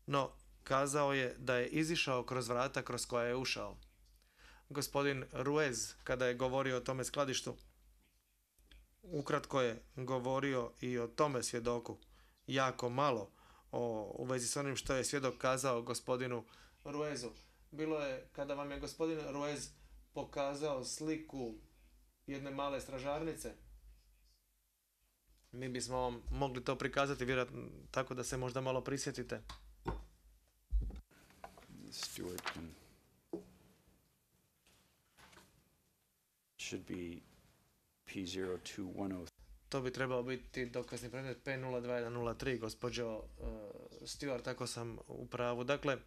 No, kazao je da je izišao kroz vrata kroz koja je ušao. Gospodin Ruiz, kada je govorio o tome skladištu, ukratko je govorio i o tome svjedoku. Jako malo o, u vezi s onim što je svjedok kazao gospodinu Ruizu. Bilo je kada vam je gospodin Ruiz pokazao sliku jedne male stražarnice. Mi bismo vam mogli to prikazati vjerojatno tako da se možda malo prisjetite. Stewart can, should be P zero two one zero. To bi trebao biti dokazni predmet P nula dva jedan nula tri, gospođo uh, Stewart, tako sam u pravu. Dakle,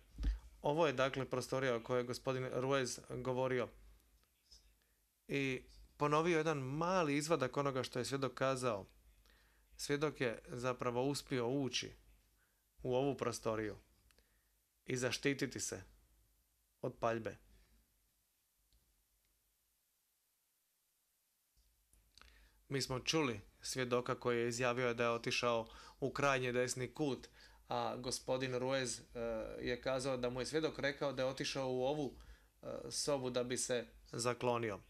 ovo je dakle prostorija o kojoj je gospodin Ruiz govorio. I ponovio jedan mali izvadak onoga što je svjedok kazao. Svjedok je zapravo uspio ući u ovu prostoriju i zaštititi se od paljbe. Mi smo čuli svjedoka koji je izjavio da je otišao u krajnji desni kut, a gospodin Ruiz uh, je kazao da mu je svjedok rekao da je otišao u ovu uh, sobu da bi se zaklonio.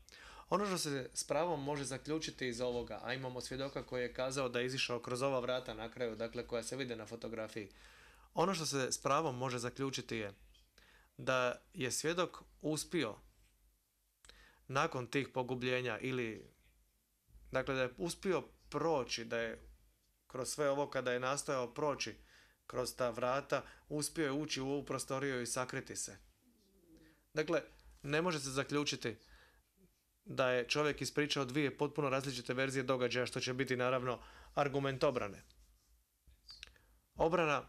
Ono što se s pravom može zaključiti iz ovoga, a imamo svjedoka koji je kazao da je izišao kroz ova vrata na kraju, dakle koja se vide na fotografiji. Ono što se s pravom može zaključiti je da je svjedok uspio nakon tih pogubljenja ili dakle da je uspio proći, da je kroz sve ovo kada je nastojao proći kroz ta vrata, uspio je ući u ovu prostoriju i sakriti se. Dakle, ne može se zaključiti da je čovjek ispričao dvije potpuno različite verzije događaja, što će biti naravno argument obrane. Obrana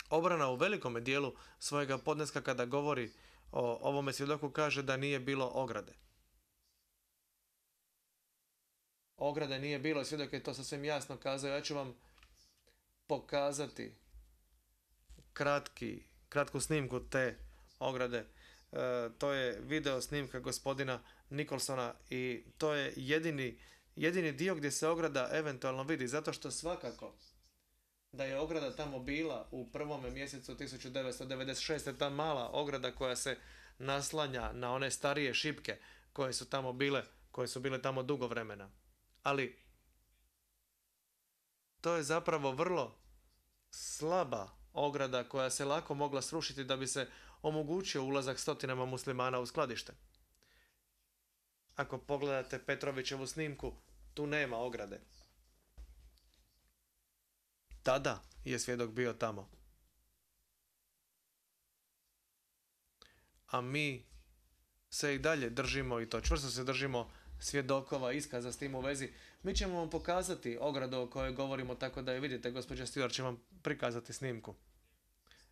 Obrana u velikome dijelu svojega podneska kada govori o ovome svjedoku kaže da nije bilo ograde. Ograde nije bilo, svjedok je to sasvim jasno kazao. Ja ću vam pokazati kratki, kratku snimku te ograde. E, to je video snimka gospodina Nicholsona i to je jedini, jedini dio gdje se ograda eventualno vidi, zato što svakako da je ograda tamo bila u prvome mjesecu tisuću devetsto devedeset šeste. ta mala ograda koja se naslanja na one starije šipke koje su tamo bile, koje su bile tamo dugo vremena. Ali to je zapravo vrlo slaba ograda koja se lako mogla srušiti da bi se omogućio ulazak stotinama muslimana u skladište. Ako pogledate Petrovićevu snimku, tu nema ograde. Tada je svjedok bio tamo. A mi se i dalje držimo, i to čvrsto se držimo, svjedokova iskaza s tim u vezi. Mi ćemo vam pokazati ogradu o kojoj govorimo tako da je vidite. Gospođa Stewart će vam prikazati snimku.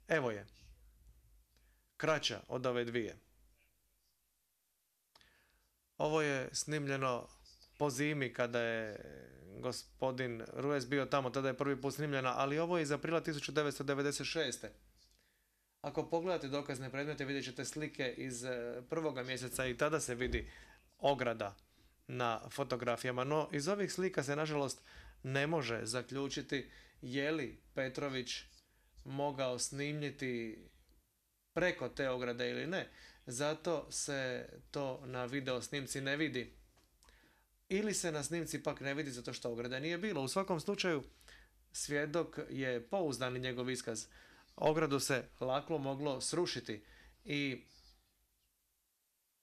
Evo je. Kraća od ove dvije. Ovo je snimljeno po zimi kada je gospodin Ruiz bio tamo, tada je prvi put snimljena, ali ovo je iz aprila tisuću devetsto devedeset šeste. Ako pogledate dokazne predmete, vidjet ćete slike iz prvoga mjeseca i tada se vidi ograda na fotografijama. No, iz ovih slika se, nažalost, ne može zaključiti je li Petrović mogao snimljiti preko te ograde ili ne. Zato se to na video snimci ne vidi. Ili se na snimci pak ne vidi zato što ograde nije bilo. U svakom slučaju, svjedok je pouzdan i njegov iskaz. Ogradu se lako moglo srušiti i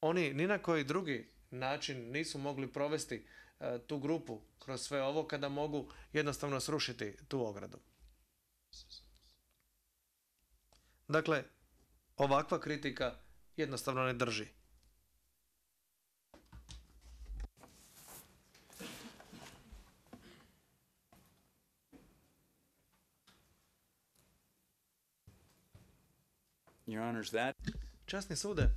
oni ni na koji drugi način nisu mogli provesti e, tu grupu kroz sve ovo kada mogu jednostavno srušiti tu ogradu. Dakle, ovakva kritika jednostavno ne drži. Your Honors, that Časni sude,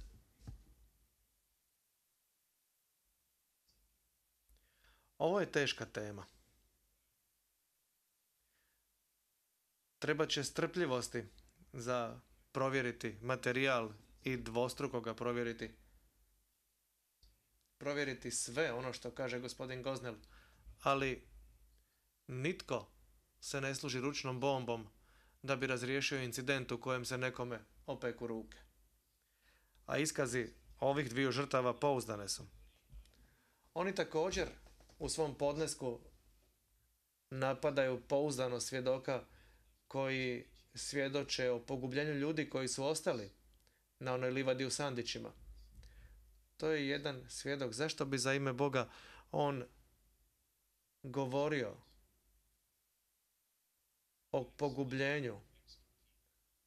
ovo je teška tema. Treba će strpljivosti za provjeriti materijal i dvostruko ga provjeriti. Provjeriti sve ono što kaže gospodin Gosnell, ali Nitko se ne služi ručnom bombom da bi razriješio incident u kojem se nekome opeku ruke. A iskazi ovih dviju žrtava pouzdane su. Oni također u svom podnesku napadaju pouzdano svjedoka koji svjedoče o pogubljenju ljudi koji su ostali na onoj livadi u Sandićima. To je jedan svjedok. Zašto bi za ime Boga on govorio o pogubljenju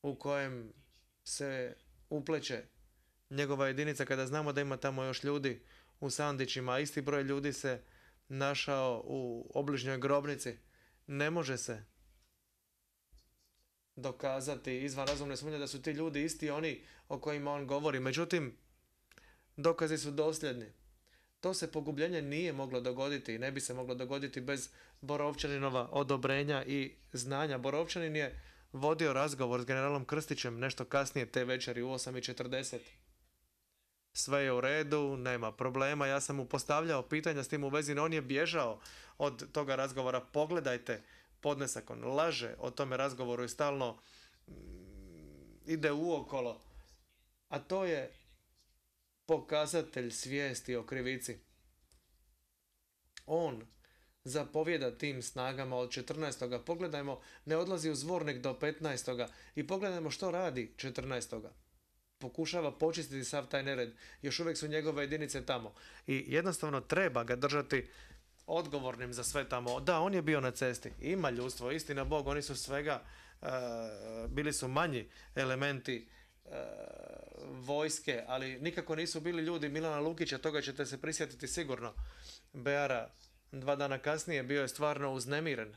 u kojem se upleće njegova jedinica kada znamo da ima tamo još ljudi u Sandićima, a isti broj ljudi se našao u obližnjoj grobnici? Ne može se dokazati izvan razumne sumnje da su ti ljudi isti oni o kojima on govori. Međutim, dokazi su dosljedni. To se pogubljenje nije moglo dogoditi i ne bi se moglo dogoditi bez Borovčaninova odobrenja i znanja. Borovčanin je vodio razgovor s generalom Krstićem nešto kasnije te večeri u osam i četrdeset. Sve je u redu, nema problema. Ja sam mu postavljao pitanja s tim u vezi, no on je bježao od toga razgovora. Pogledajte podnesak, on laže o tome razgovoru i stalno ide uokolo. A to je pokazatelj svijesti o krivici. On zapovjeda tim snagama od četrnaestoga. Pogledajmo, ne odlazi u Zvornik do petnaestoga. I pogledajmo što radi četrnaestoga. Pokušava počistiti sav taj nered. Još uvijek su njegove jedinice tamo. I jednostavno treba ga držati odgovornim za sve tamo. Da, on je bio na cesti. Ima ljudstvo, istina Bog, oni su svega, uh, bili su manji elementi uh, vojske, ali nikako nisu bili ljudi Milana Lukića, toga ćete se prisjetiti sigurno. Beara dva dana kasnije bio je stvarno uznemiren.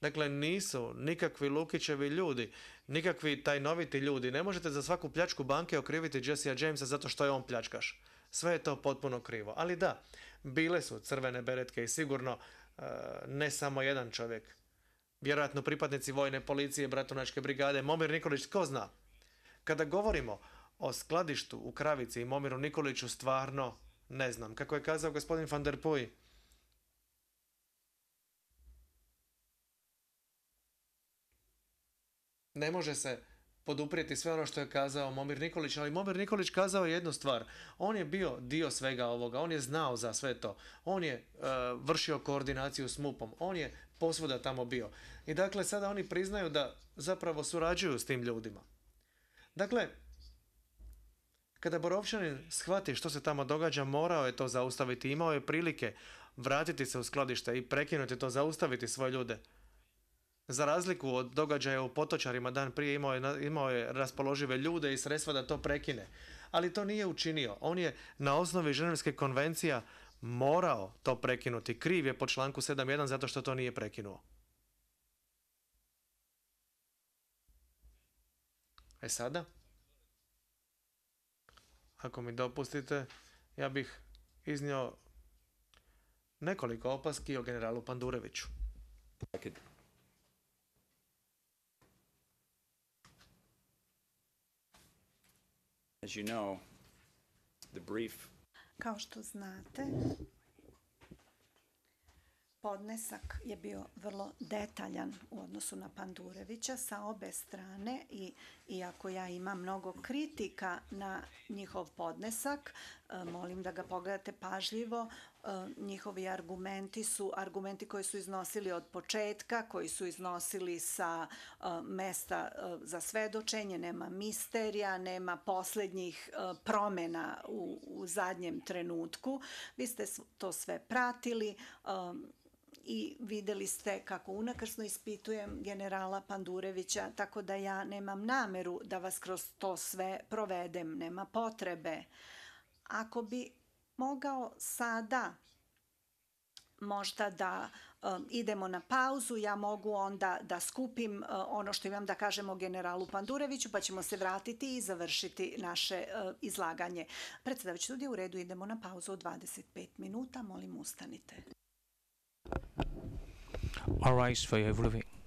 Dakle, nisu nikakvi Lukićevi ljudi, nikakvi tajnoviti ljudi. Ne možete za svaku pljačku banke okriviti Jessea Jamesa zato što je on pljačkaš. Sve je to potpuno krivo. Ali da, bile su crvene beretke i sigurno uh, ne samo jedan čovjek. Vjerojatno pripadnici vojne policije, bratunačke brigade, Momir Nikolić, tko zna. Kada govorimo o skladištu u Kravici i Momiru Nikoliću, stvarno ne znam. Kako je kazao gospodin Van der Puy, ne može se poduprijeti sve ono što je kazao Momir Nikolić, ali Momir Nikolić kazao jednu stvar. On je bio dio svega ovoga, on je znao za sve to. On je uh, vršio koordinaciju s MUP-om, on je posvuda tamo bio. I dakle, sada oni priznaju da zapravo surađuju s tim ljudima. Dakle, kada Borovčanin shvati što se tamo događa, morao je to zaustaviti. Imao je prilike vratiti se u skladište i prekinuti to, zaustaviti svoje ljude. Za razliku od događaja u Potočarima dan prije imao je, imao je raspoložive ljude i sredstva da to prekine. Ali to nije učinio. On je na osnovi Ženevske konvencija morao to prekinuti. Kriv je po članku sedam jedan zato što to nije prekinuo. E sada, ako mi dopustite, ja bih iznio nekoliko opaski o generalu Pandureviću. As you know, the brief Kao što znate, podnesak je bio vrlo detaljan u odnosu na Pandurevića sa obe strane i iako ja imam mnogo kritika na njihov podnesak, molim da ga pogledate pažljivo. Njihovi argumenti su argumenti koji su iznosili od početka, koji su iznosili sa mesta za svedočenje, nema misterija, nema posljednjih promjena u, u zadnjem trenutku. Vi ste to sve pratili i vidjeli ste kako unakrsno ispitujem generala Pandurevića, tako da ja nemam nameru da vas kroz to sve provedem, nema potrebe. Ako bi mogao sada možda da um, idemo na pauzu, ja mogu onda da skupim uh, ono što imam da kažem o generalu Pandureviću, pa ćemo se vratiti i završiti naše uh, izlaganje. Predsjedavajući studija, u redu, idemo na pauzu od dvadeset pet minuta, molim ustanite. All rise for your briefing.